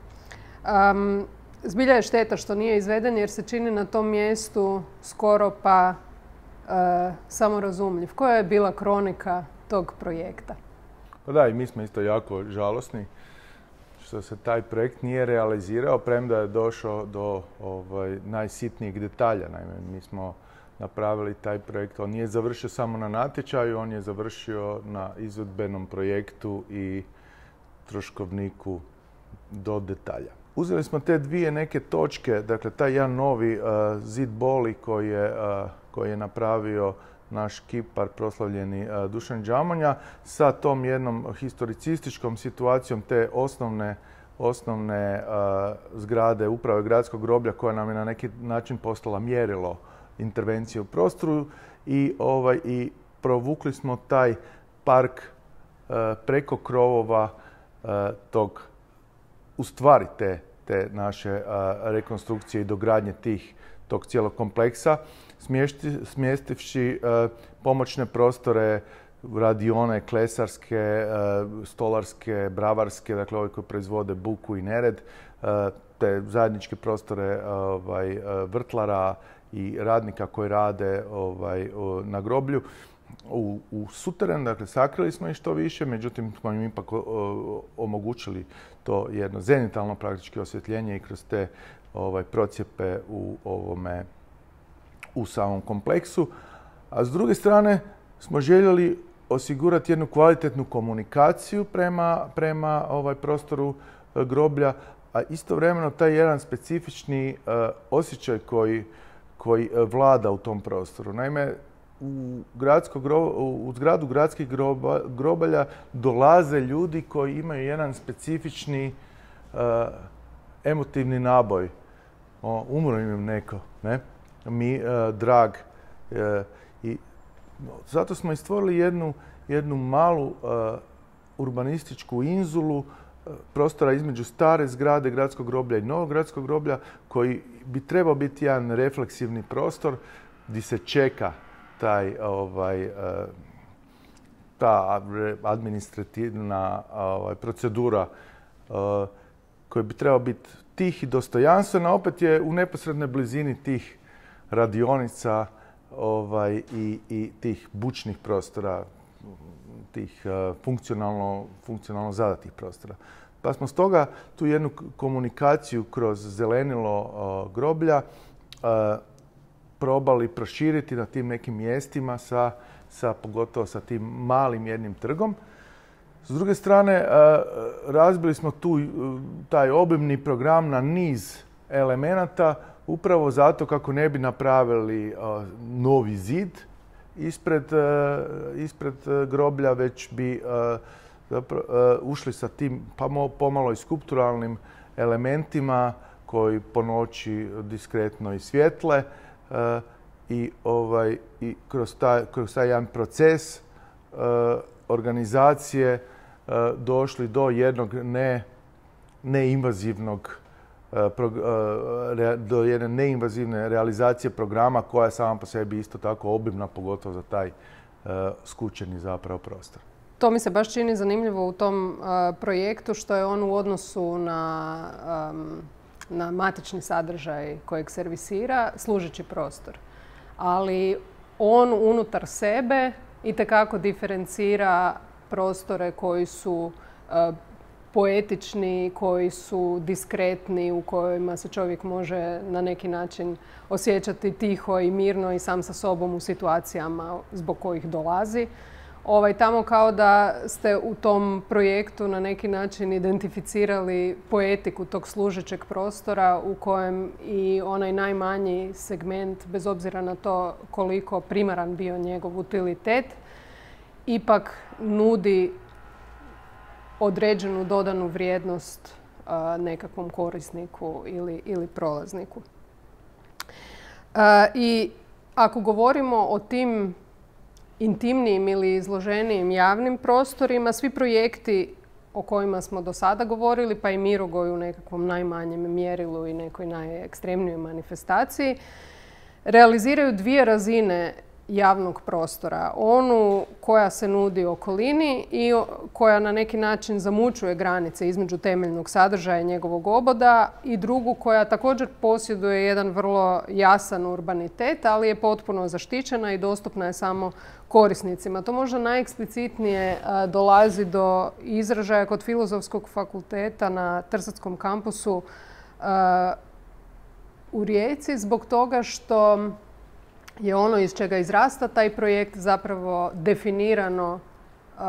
Speaker 1: Um, zbilja je šteta što nije izveden jer se čini na tom mjestu skoro pa uh, samorazumljiv. Koja je bila kronika tog projekta?
Speaker 2: Pa da, i mi smo isto jako žalosni što se taj projekt nije realizirao, premda je došao do ovaj, najsitnijeg detalja. Naime, mi smo napravili taj projekt, on nije završio samo na natječaju, on je završio na izvedbenom projektu i troškovniku do detalja. Uzeli smo te dvije neke točke, dakle taj jedan novi uh, zid boli koji je, uh, koji je napravio naš kipar, proslavljeni uh, Dušan Đamonja, sa tom jednom historicističkom situacijom te osnovne, osnovne uh, zgrade uprave gradskog groblja koja nam je na neki način postala mjerilo intervencije u prostoru i, ovaj, i provukli smo taj park uh, preko krovova uh, tog, u stvari te, te naše uh, rekonstrukcije i dogradnje tih, tog cijelog kompleksa, smješti, smjestivši uh, pomoćne prostore, radione, klesarske, uh, stolarske, bravarske, dakle ove koje proizvode buku i nered, uh, te zajedničke prostore uh, ovaj, uh, vrtlara i radnika koji rade ovaj, uh, na groblju. U, u suteren, dakle, sakrili smo ih što više, međutim smo im ipak o, omogućili to jedno zenitalno praktički osvjetljenje i kroz te ovaj, procjepe u ovome, u samom kompleksu. A s druge strane smo željeli osigurati jednu kvalitetnu komunikaciju prema, prema ovaj prostoru e, groblja, a istovremeno taj jedan specifični e, osjećaj koji, koji vlada u tom prostoru. Naime, U, gradsko grob, u zgradu gradskih groba, grobalja dolaze ljudi koji imaju jedan specifični uh, emotivni naboj. O, umro im neko, ne? Mi, uh, drag. Uh, I zato smo i stvorili jednu, jednu malu uh, urbanističku inzulu uh, prostora između stare zgrade gradskog groblja i novog gradskog groblja koji bi trebao biti jedan refleksivni prostor gdje se čeka taj, ovaj, ta administrativna ovaj, procedura koja bi trebala biti tih i dostojanstvena, opet je u neposrednoj blizini tih radionica ovaj, i, i tih bučnih prostora, tih funkcionalno, funkcionalno zadatih prostora. Pa smo stoga tu jednu komunikaciju kroz zelenilo groblja probali proširiti na tim nekim mjestima sa, sa pogotovo sa tim malim jednim trgom. S druge strane, razbili smo tu taj obimni program na niz elemenata upravo zato kako ne bi napravili novi zid ispred, ispred groblja, već bi ušli sa tim pomalo i skulpturalnim elementima koji po noći diskretno i svjetle i, ovaj, i kroz, taj, kroz taj jedan proces organizacije došli do jednog ne, neinvazivnog do jedne neinvazivne realizacije programa koja je sama po sebi isto tako obimna, pogotovo za taj skučeni zapravo prostor.
Speaker 1: To mi se baš čini zanimljivo u tom projektu što je on u odnosu na, na matični sadržaj kojeg servisira služeći prostor. Ali on unutar sebe itekako diferencira prostore koji su poetični, koji su diskretni, u kojima se čovjek može na neki način osjećati tiho i mirno i sam sa sobom u situacijama zbog kojih dolazi. Ovaj, tamo kao da ste u tom projektu na neki način identificirali poetiku tog služećeg prostora u kojem i onaj najmanji segment, bez obzira na to koliko primaran bio njegov utilitet, ipak nudi određenu dodanu vrijednost a, nekakvom korisniku ili, ili prolazniku. A, I ako govorimo o tim intimnijim ili izloženijim javnim prostorima, svi projekti o kojima smo do sada govorili, pa i Mirogoj u nekakvom najmanjem mjerilu i nekoj najekstremnijoj manifestaciji, realiziraju dvije razine javnog prostora. Onu koja se nudi okolini i koja na neki način zamućuje granice između temeljnog sadržaja i njegovog oboda, i drugu koja također posjeduje jedan vrlo jasan urbanitet, ali je potpuno zaštićena i dostupna je samo korisnicima. To možda najeksplicitnije dolazi do izražaja kod Filozofskog fakulteta na Trsatskom kampusu u Rijeci zbog toga što je ono iz čega izrasta taj projekt zapravo definirano uh,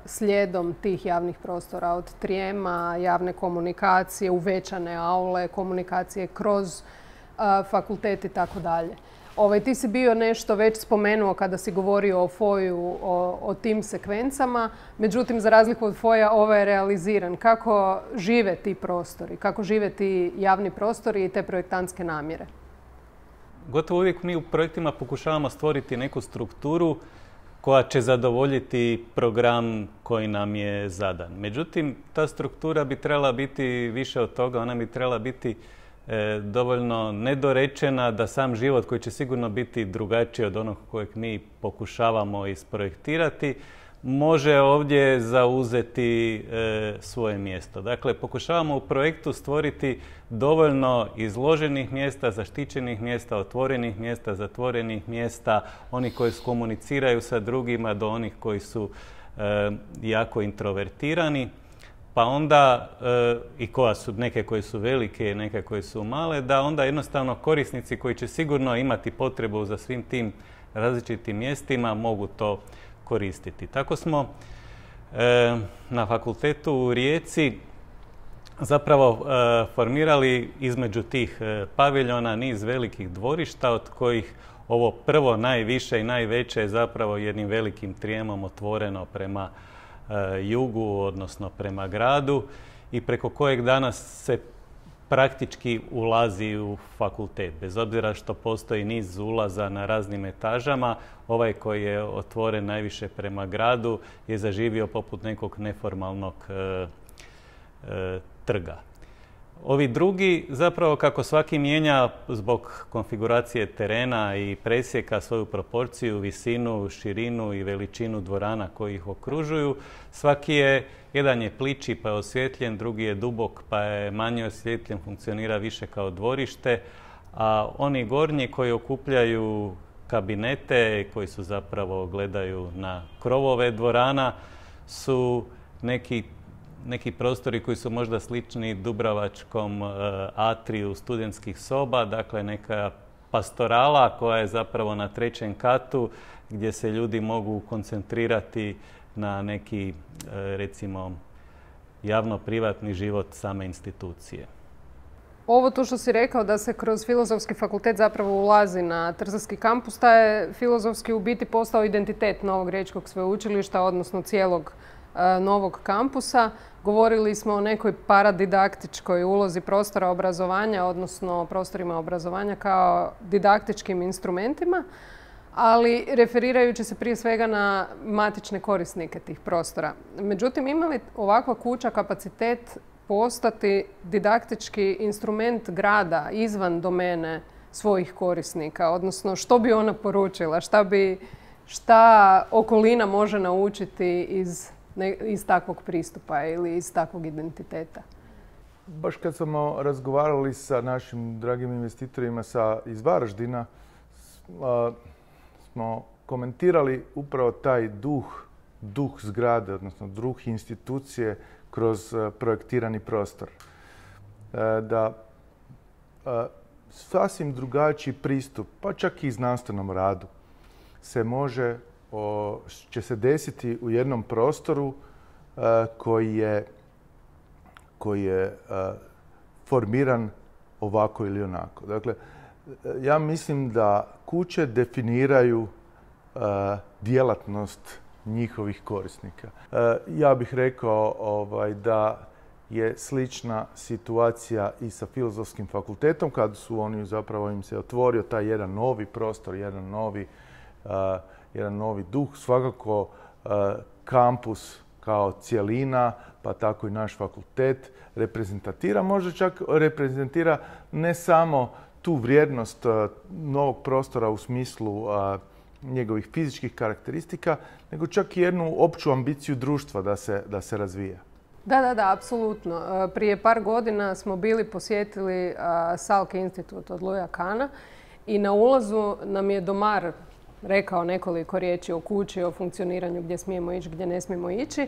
Speaker 1: slijedom tih javnih prostora, od trijema, javne komunikacije, uvećane aule, komunikacije kroz uh, fakultet i tako dalje. Ovaj, ti si bio nešto već spomenuo kada si govorio o Foju, o, o tim sekvencama. Međutim, za razliku od Foja, ovaj je realiziran. Kako žive ti prostori? Kako žive ti javni prostori i te projektantske namjere?
Speaker 3: Gotovo uvijek mi u projektima pokušavamo stvoriti neku strukturu koja će zadovoljiti program koji nam je zadan. Međutim, ta struktura bi trebala biti više od toga, ona bi trebala biti e, dovoljno nedorečena da sam život, koji će sigurno biti drugačiji od onog kojeg mi pokušavamo isprojektirati, može ovdje zauzeti e, svoje mjesto. Dakle, pokušavamo u projektu stvoriti dovoljno izloženih mjesta, zaštićenih mjesta, otvorenih mjesta, zatvorenih mjesta, oni koji komuniciraju sa drugima do onih koji su e, jako introvertirani, pa onda e, i koja su, neke koje su velike, neke koje su male, da onda jednostavno korisnici koji će sigurno imati potrebu za svim tim različitim mjestima mogu to koristiti. Tako smo e, na fakultetu u Rijeci zapravo e, formirali između tih e, paviljona niz velikih dvorišta, od kojih ovo prvo najviše i najveće je zapravo jednim velikim trijemom otvoreno prema e, jugu, odnosno prema gradu, i preko kojeg danas se praktički ulazi u fakultet. Bez obzira što postoji niz ulaza na raznim etažama, ovaj koji je otvoren najviše prema gradu je zaživio poput nekog neformalnog e, e, trga. Ovi drugi, zapravo kako svaki mijenja zbog konfiguracije terena i presjeka svoju proporciju, visinu, širinu i veličinu dvorana koji ih okružuju, svaki je, jedan je plići pa je osvjetljen, drugi je dubok pa je manje osvjetljen, funkcionira više kao dvorište, a oni gornji koji okupljaju kabinete, koji su zapravo gledaju na krovove dvorana, su neki neki prostori koji su možda slični dubrovačkom atriju studentskih soba, dakle neka pastorala koja je zapravo na trećem katu gdje se ljudi mogu koncentrirati na neki, recimo, javno-privatni život same institucije.
Speaker 1: Ovo tu što si rekao da se kroz Filozofski fakultet zapravo ulazi na Trstavski kampus, taj je filozofski u biti postao identitet Novog riječkog sveučilišta, odnosno cijelog e, novog kampusa. Govorili smo o nekoj paradidaktičkoj ulozi prostora obrazovanja, odnosno prostorima obrazovanja kao didaktičkim instrumentima, ali referirajući se prije svega na matične korisnike tih prostora. Međutim, ima li ovakva kuća kapacitet postati didaktički instrument grada izvan domene svojih korisnika? Odnosno, što bi ona poručila? Šta bi, šta okolina može naučiti iz, ne, iz takvog pristupa ili iz takvog identiteta?
Speaker 2: Baš kad smo razgovarali sa našim dragim investitorima sa, iz Varaždina, a, smo komentirali upravo taj duh, duh zgrade, odnosno duh institucije kroz projektirani prostor. Da sasvim drugačiji pristup, pa čak i znanstvenom radu, se može, će se desiti u jednom prostoru koji je, koji je formiran ovako ili onako. Dakle, ja mislim da kuće definiraju djelatnost njihovih korisnika. Ja bih rekao ovaj, da je slična situacija i sa Filozofskim fakultetom, kad su oni zapravo im se otvorio taj jedan novi prostor, jedan novi, uh, jedan novi duh. Svakako uh, kampus kao cjelina, pa tako i naš fakultet reprezentira, možda čak reprezentira ne samo tu vrijednost uh, novog prostora u smislu uh, njegovih fizičkih karakteristika, nego čak i jednu opću ambiciju društva da se, da se razvija.
Speaker 1: Da, da, da, apsolutno. Prije par godina smo bili posjetili Salke institut od Louisa Kahna i na ulazu nam je domar rekao nekoliko riječi o kući, o funkcioniranju gdje smijemo ići, gdje ne smijemo ići.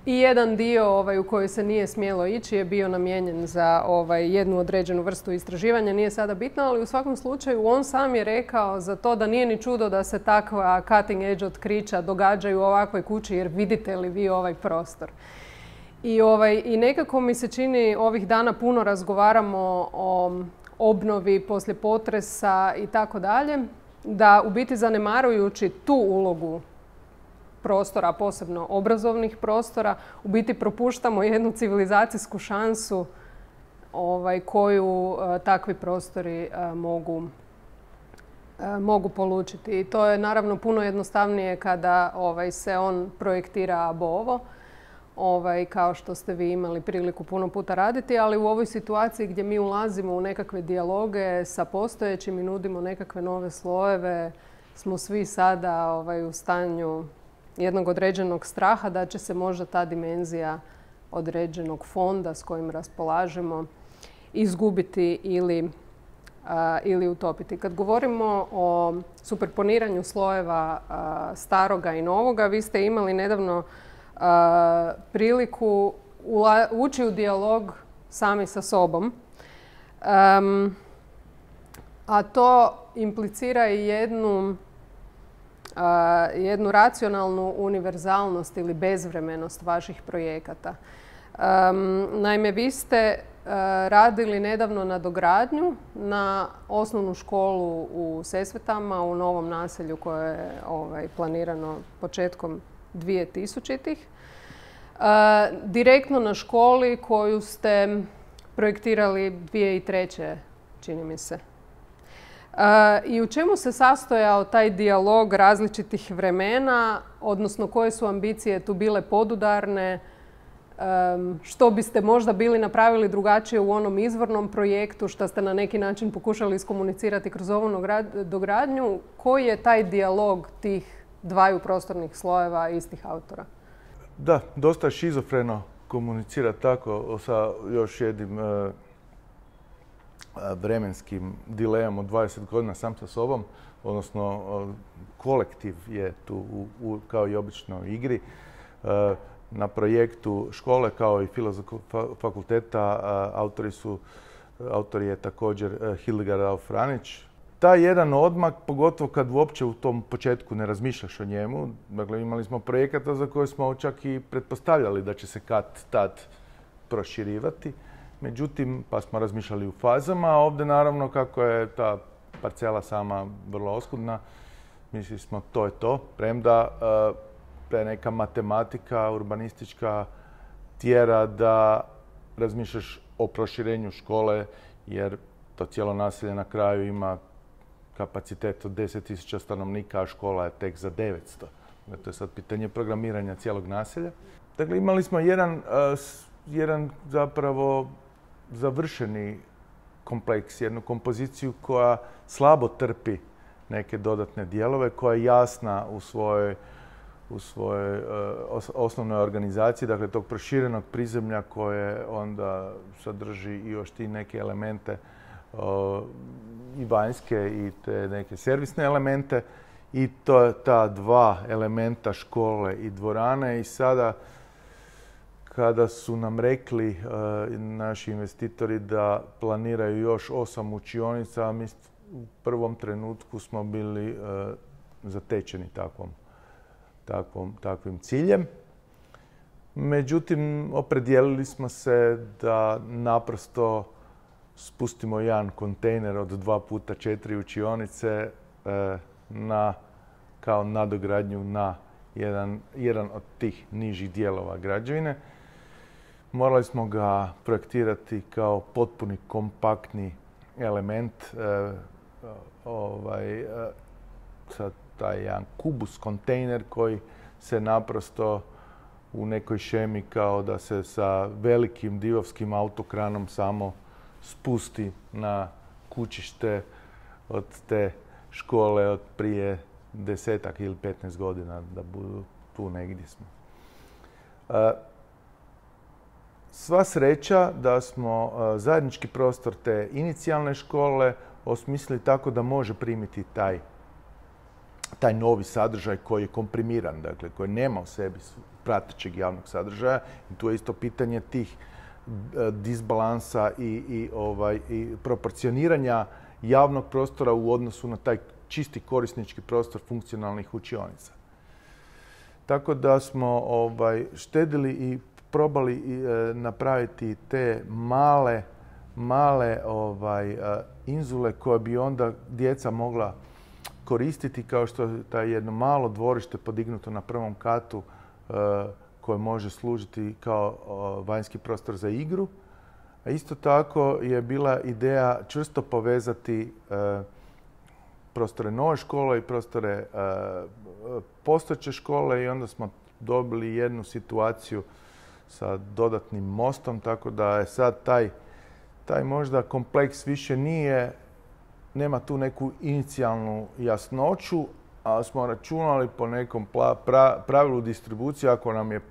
Speaker 1: I jedan dio ovaj, u koji se nije smjelo ići je bio namijenjen za ovaj, jednu određenu vrstu istraživanja. Nije sada bitno, ali u svakom slučaju on sam je rekao za to da nije ni čudo da se takva cutting edge otkrića događaju u ovakvoj kući, jer vidite li vi ovaj prostor. I, ovaj, I nekako mi se čini, ovih dana puno razgovaramo o obnovi poslije potresa i tako dalje, da u biti zanemarujući tu ulogu prostora, posebno obrazovnih prostora, u biti propuštamo jednu civilizacijsku šansu ovaj, koju uh, takvi prostori uh, mogu, uh, mogu polučiti. I to je naravno puno jednostavnije kada ovaj, se on projektira ab ovo, ovaj, kao što ste vi imali priliku puno puta raditi, ali u ovoj situaciji gdje mi ulazimo u nekakve dijaloge sa postojećim i nudimo nekakve nove slojeve, smo svi sada ovaj, u stanju jednog određenog straha da će se možda ta dimenzija određenog fonda s kojim raspolažemo izgubiti ili, a, ili utopiti. Kad govorimo o superponiranju slojeva a, staroga i novoga, vi ste imali nedavno a, priliku ula, ući u dijalog sami sa sobom. Um, a to implicira i jednu Uh, jednu racionalnu univerzalnost ili bezvremenost vaših projekata. Um, naime, vi ste uh, radili nedavno na dogradnju na osnovnu školu u Sesvetama, u novom naselju koje je ovaj, planirano početkom dvije tisućitih. Uh, direktno na školi koju ste projektirali dvije tisuće treće. čini mi se. Uh, I u čemu se sastojao taj dijalog različitih vremena, odnosno koje su ambicije tu bile podudarne, um, što biste možda bili napravili drugačije u onom izvornom projektu, što ste na neki način pokušali iskomunicirati kroz ovu dogradnju, koji je taj dijalog tih dvaju prostornih slojeva istih autora?
Speaker 2: Da, dosta šizofreno komunicira tako sa još jednim uh, vremenskim dilemom od dvadeset godina sam sa sobom, odnosno kolektiv je tu u, u, kao i obično u igri. Uh, na projektu škole kao i Filozofskog fakulteta. Autori su, autor je također Hildegard Auf-Ranić. Taj jedan odmak, pogotovo kad uopće u tom početku ne razmišljaš o njemu, dakle imali smo projekata za koje smo čak i pretpostavljali da će se kad tad proširivati. Međutim, pa smo razmišljali u fazama, a ovdje naravno kako je ta parcela sama vrlo oskudna, mislili smo to je to, premda da je neka matematika urbanistička tjera da razmišljaš o proširenju škole, jer to cijelo naselje na kraju ima kapacitet od deset tisuća stanovnika, a škola je tek za devetsto. To je sad pitanje programiranja cijelog naselja. Dakle, imali smo jedan, jedan zapravo završeni kompleks, jednu kompoziciju koja slabo trpi neke dodatne dijelove, koja je jasna u svojoj, u svojoj uh, osnovnoj organizaciji, dakle tog proširenog prizemlja koje onda sadrži i još ti neke elemente uh, i vanjske i te neke servisne elemente i to ta dva elementa škole i dvorane. I sada kada su nam rekli uh, naši investitori da planiraju još osam učionica, mi u prvom trenutku smo bili uh, zatečeni takvom, takvom, takvim ciljem. Međutim, opredijelili smo se da naprosto spustimo jedan kontejner od dva puta četiri učionice uh, na, kao nadogradnju na jedan, jedan od tih nižih dijelova građevine. Morali smo ga projektirati kao potpuni kompaktni element, e, ovaj, e, sad taj jedan kubus kontejner koji se naprosto u nekoj šemi kao da se sa velikim divovskim autokranom samo spusti na kućište od te škole od prije desetak ili petnaest godina, da budu tu negdje smo. E, Sva sreća da smo zajednički prostor te inicijalne škole osmislili tako da može primiti taj, taj novi sadržaj koji je komprimiran, dakle koji nema u sebi pratećeg javnog sadržaja. I tu je isto pitanje tih disbalansa i, i, ovaj, i proporcioniranja javnog prostora u odnosu na taj čisti korisnički prostor funkcionalnih učionica. Tako da smo ovaj, štedili i probali e, napraviti te male, male ovaj, inzule koje bi onda djeca mogla koristiti, kao što je taj jedno malo dvorište podignuto na prvom katu e, koje može služiti kao o, vanjski prostor za igru. A isto tako je bila ideja čvrsto povezati e, prostore nove škole i prostore e, postojeće škole i onda smo dobili jednu situaciju sa dodatnim mostom, tako da je sad taj, taj možda kompleks više nije, nema tu neku inicijalnu jasnoću, ali smo računali po nekom pra, pravilu distribucije, ako nam je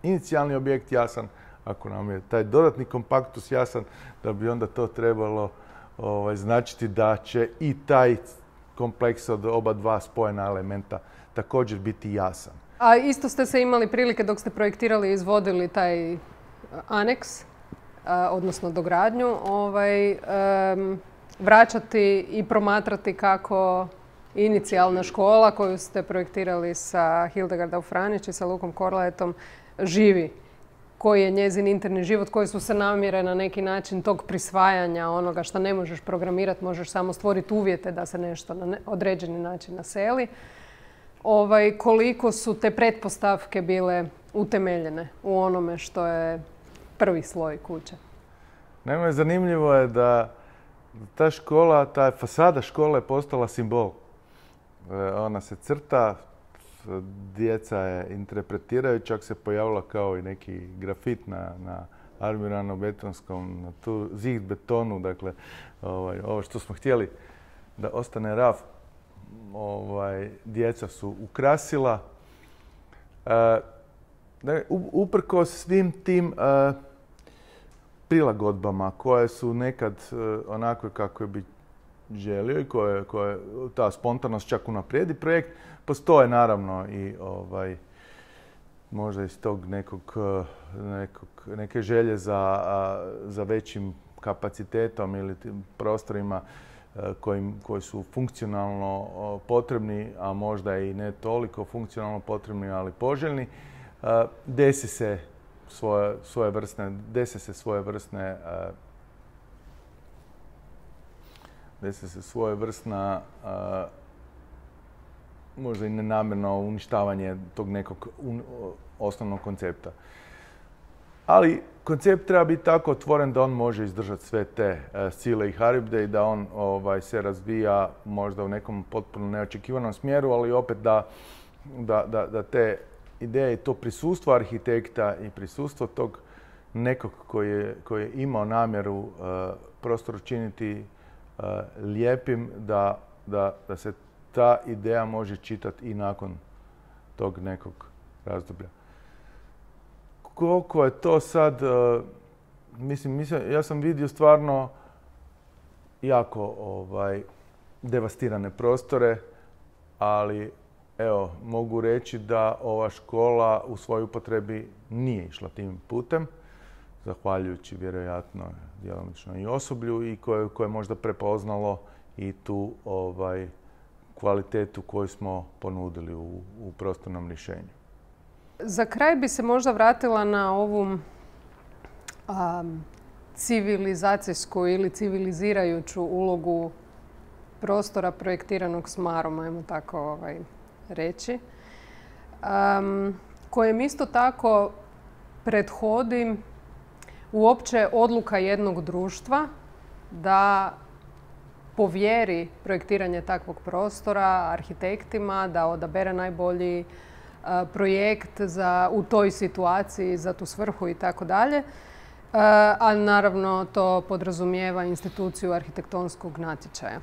Speaker 2: inicijalni objekt jasan, ako nam je taj dodatni kompaktus jasan, da bi onda to trebalo ovaj, značiti da će i taj kompleks od oba dva spojena elementa također biti jasan.
Speaker 1: A isto ste se imali prilike dok ste projektirali i izvodili taj aneks, odnosno dogradnju, ovaj, um, vraćati i promatrati kako inicijalna škola koju ste projektirali sa Hildegard Auf-Ranić i sa Lukom Korlaetom živi. Koji je njezin interni život, koje su se namjere na neki način tog prisvajanja onoga što ne možeš programirati, možeš samo stvoriti uvjete da se nešto na određeni način naseli. Ovaj, koliko su te pretpostavke bile utemeljene u onome što je prvi sloj kuće?
Speaker 2: Naime, zanimljivo je da ta škola, ta fasada škole je postala simbol. Ona se crta, djeca je interpretiraju, čak se pojavila kao i neki grafit na, na armirano-betonskom, na tu zid betonu, dakle, ovaj, ovo što smo htjeli da ostane raf, ovaj, djeca su ukrasila. E, uprkos svim tim e, prilagodbama koje su nekad e, onakve kako bi želio i koje, koje ta spontanost čak unaprijedi projekt, postoje naravno i ovaj, možda iz tog nekog, nekog, neke želje za, za većim kapacitetom ili prostorima koji, koji su funkcionalno potrebni, a možda i ne toliko funkcionalno potrebni, ali poželjni, desi se svoje, svoje vrstne, desi se svoje vrstne desi se svoje vrstna možda i nenamjerno uništavanje tog nekog un, osnovnog koncepta. Ali koncept treba biti tako otvoren da on može izdržati sve te uh, sile i haribde i da on ovaj, se razvija možda u nekom potpuno neočekivanom smjeru, ali opet da, da, da, da te ideje i to prisustvo arhitekta i prisustvo tog nekog koji je, koji je imao namjeru uh, prostor učiniti uh, lijepim, da, da, da se ta ideja može čitati i nakon tog nekog razdoblja. Koliko je to sad, uh, mislim, mislim, ja sam vidio stvarno jako ovaj, devastirane prostore, ali evo, mogu reći da ova škola u svojoj upotrebi nije išla tim putem, zahvaljujući vjerojatno djelomično i osoblju i koje, koje je možda prepoznalo i tu ovaj, kvalitetu koju smo ponudili u, u prostornom rješenju.
Speaker 1: Za kraj bi se možda vratila na ovu um, civilizacijsku ili civilizirajuću ulogu prostora projektiranog s marom, ajmo tako ovaj, reći, um, kojem isto tako prethodi uopće odluka jednog društva da povjeri projektiranje takvog prostora arhitektima, da odabere najbolji projekt za, u toj situaciji za tu svrhu i tako dalje. A naravno to podrazumijeva instituciju arhitektonskog natječaja.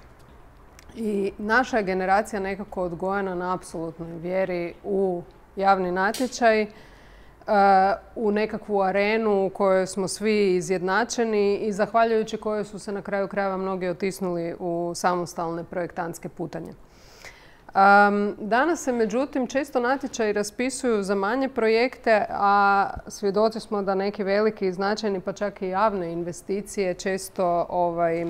Speaker 1: I naša je generacija nekako odgojena na apsolutnoj vjeri u javni natječaj, u nekakvu arenu u kojoj smo svi izjednačeni i zahvaljujući kojoj su se na kraju krajeva mnogi otisnuli u samostalne projektantske putanje. Um, danas se međutim često natječaji raspisuju za manje projekte, a svjedoci smo da neki veliki i značajni, pa čak i javne investicije često ovaj,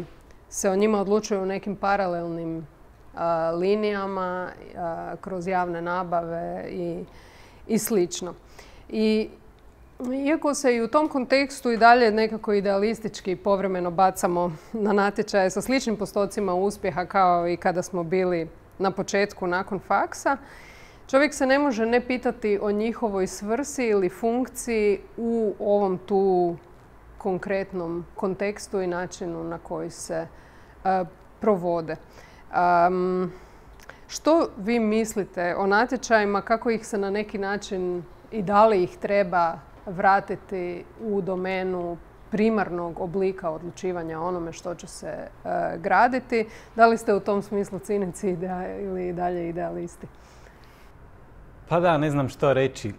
Speaker 1: se o njima odlučuju u nekim paralelnim uh, linijama, uh, kroz javne nabave i, i slično. I iako se i u tom kontekstu i dalje nekako idealistički povremeno bacamo na natječaje sa sličnim postocima uspjeha kao i kada smo bili na početku nakon faksa, čovjek se ne može ne pitati o njihovoj svrsi ili funkciji u ovom tu konkretnom kontekstu i načinu na koji se uh, provode. Um, što vi mislite o natječajima, kako ih se na neki način i da li ih treba vratiti u domenu primarnog oblika odlučivanja o onome što će se uh, graditi? Da li ste u tom smislu cinici idea, ili dalje idealisti?
Speaker 3: Pa da, ne znam što reći.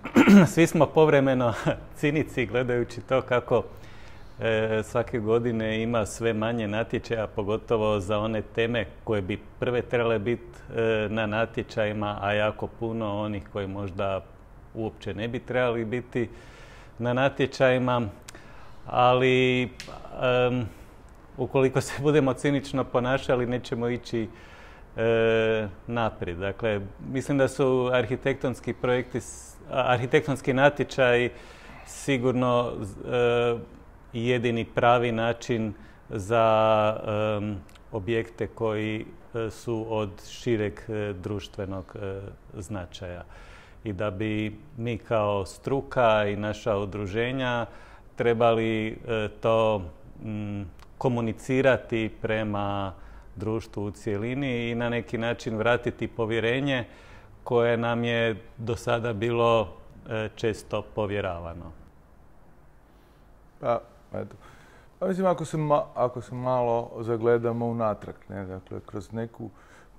Speaker 3: Svi smo povremeno cinici gledajući to kako e, svake godine ima sve manje natječaja, pogotovo za one teme koje bi prve trebale biti e, na natječajima, a jako puno onih koji možda uopće ne bi trebali biti na natječajima. Ali um, ukoliko se budemo cinično ponašali, nećemo ići e, naprijed. Dakle, mislim da su arhitektonski projekti, arhitektonski natječaji sigurno e, jedini pravi način za e, objekte koji su od šireg e, društvenog e, značaja. I da bi mi kao struka i naša udruženja trebali e, to m, komunicirati prema društvu u cjelini i na neki način vratiti povjerenje koje nam je do sada bilo e, često povjeravano.
Speaker 2: Pa, eto. Pa mislim, ako se, ma, ako se malo zagledamo unatrag, ne, dakle, kroz neku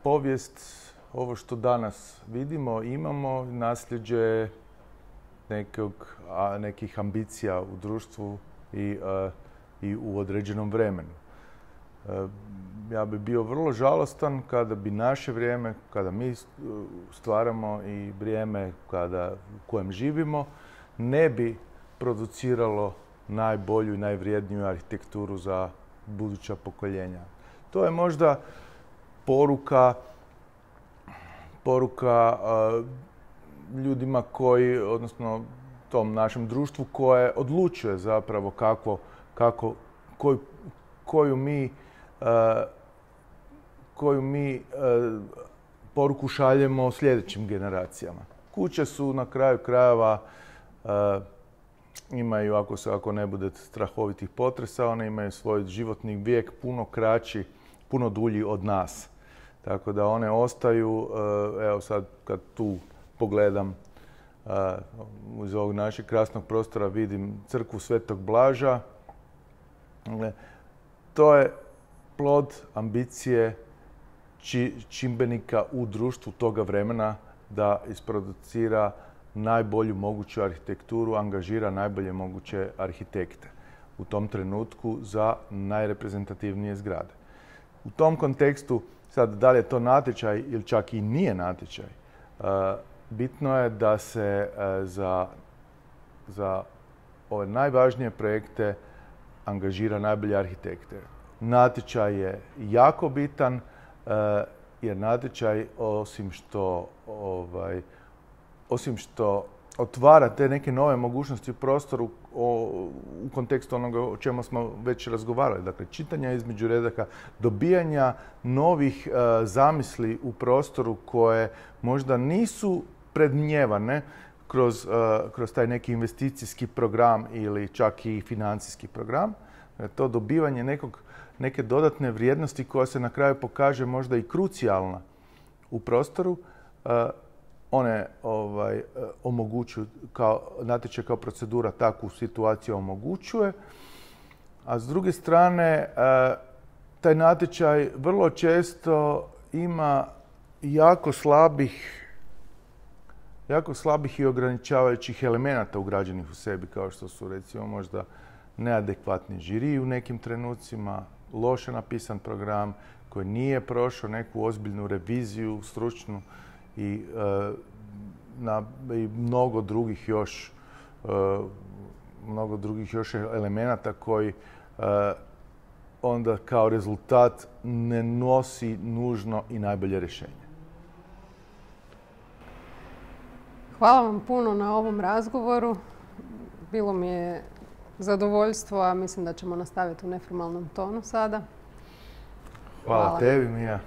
Speaker 2: povijest, ovo što danas vidimo, imamo nasljeđe nekog, a, nekih ambicija u društvu i, a, i u određenom vremenu. A, ja bi bio vrlo žalostan kada bi naše vrijeme, kada mi stvaramo i vrijeme kada, u kojem živimo, ne bi produciralo najbolju i najvrijedniju arhitekturu za buduća pokoljenja. To je možda poruka, poruka uh, ljudima koji, odnosno tom našem društvu koje odlučuje zapravo kako, kako, koju, koju mi, uh, koju mi uh, poruku šaljemo sljedećim generacijama. Kuće su na kraju krajeva uh, imaju, ako se ako ne bude strahovitih potresa, one imaju svoj životni vijek puno kraći, puno dulji od nas. Tako da one ostaju, evo sad kad tu pogledam iz ovog našeg krasnog prostora vidim crkvu Svetog Blaža. To je plod ambicije čimbenika u društvu toga vremena da isproducira najbolju moguću arhitekturu, angažira najbolje moguće arhitekte u tom trenutku za najreprezentativnije zgrade. U tom kontekstu, sad da li je to natječaj ili čak i nije natječaj, bitno je da se za, za ove najvažnije projekte angažira najbolje arhitekte. Natječaj je jako bitan jer natječaj osim što ovaj, osim što otvara te neke nove mogućnosti u prostoru o, u kontekstu onoga o čemu smo već razgovarali. Dakle, čitanja između redaka, dobijanja novih uh, zamisli u prostoru koje možda nisu predmnijevane kroz, uh, kroz taj neki investicijski program ili čak i financijski program. To dobivanje nekog, neke dodatne vrijednosti koja se na kraju pokaže možda i krucijalna u prostoru. Uh, One ovaj, omogućuju, kao natječaj kao procedura takvu situaciju omogućuje. A s druge strane, taj natječaj vrlo često ima jako slabih, jako slabih i ograničavajućih elemenata ugrađenih u sebi, kao što su recimo možda neadekvatni žiri u nekim trenucima, loše napisan program koji nije prošao neku ozbiljnu reviziju stručnu, i, e, na, i mnogo drugih još e, mnogo drugih još elemenata koji e, onda kao rezultat ne nosi nužno i najbolje rješenje.
Speaker 1: Hvala vam puno na ovom razgovoru. Bilo mi je zadovoljstvo, a mislim da ćemo nastaviti u neformalnom tonu sada.
Speaker 2: Hvala,
Speaker 1: Hvala.
Speaker 2: tebi, Mija.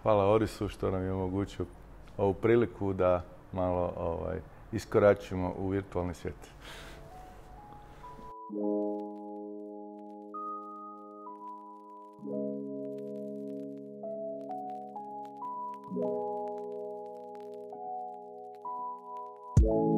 Speaker 2: Hvala Orisu što nam je omogućio ovu priliku da malo ovaj, iskoračimo u virtualni svijet.
Speaker 7: you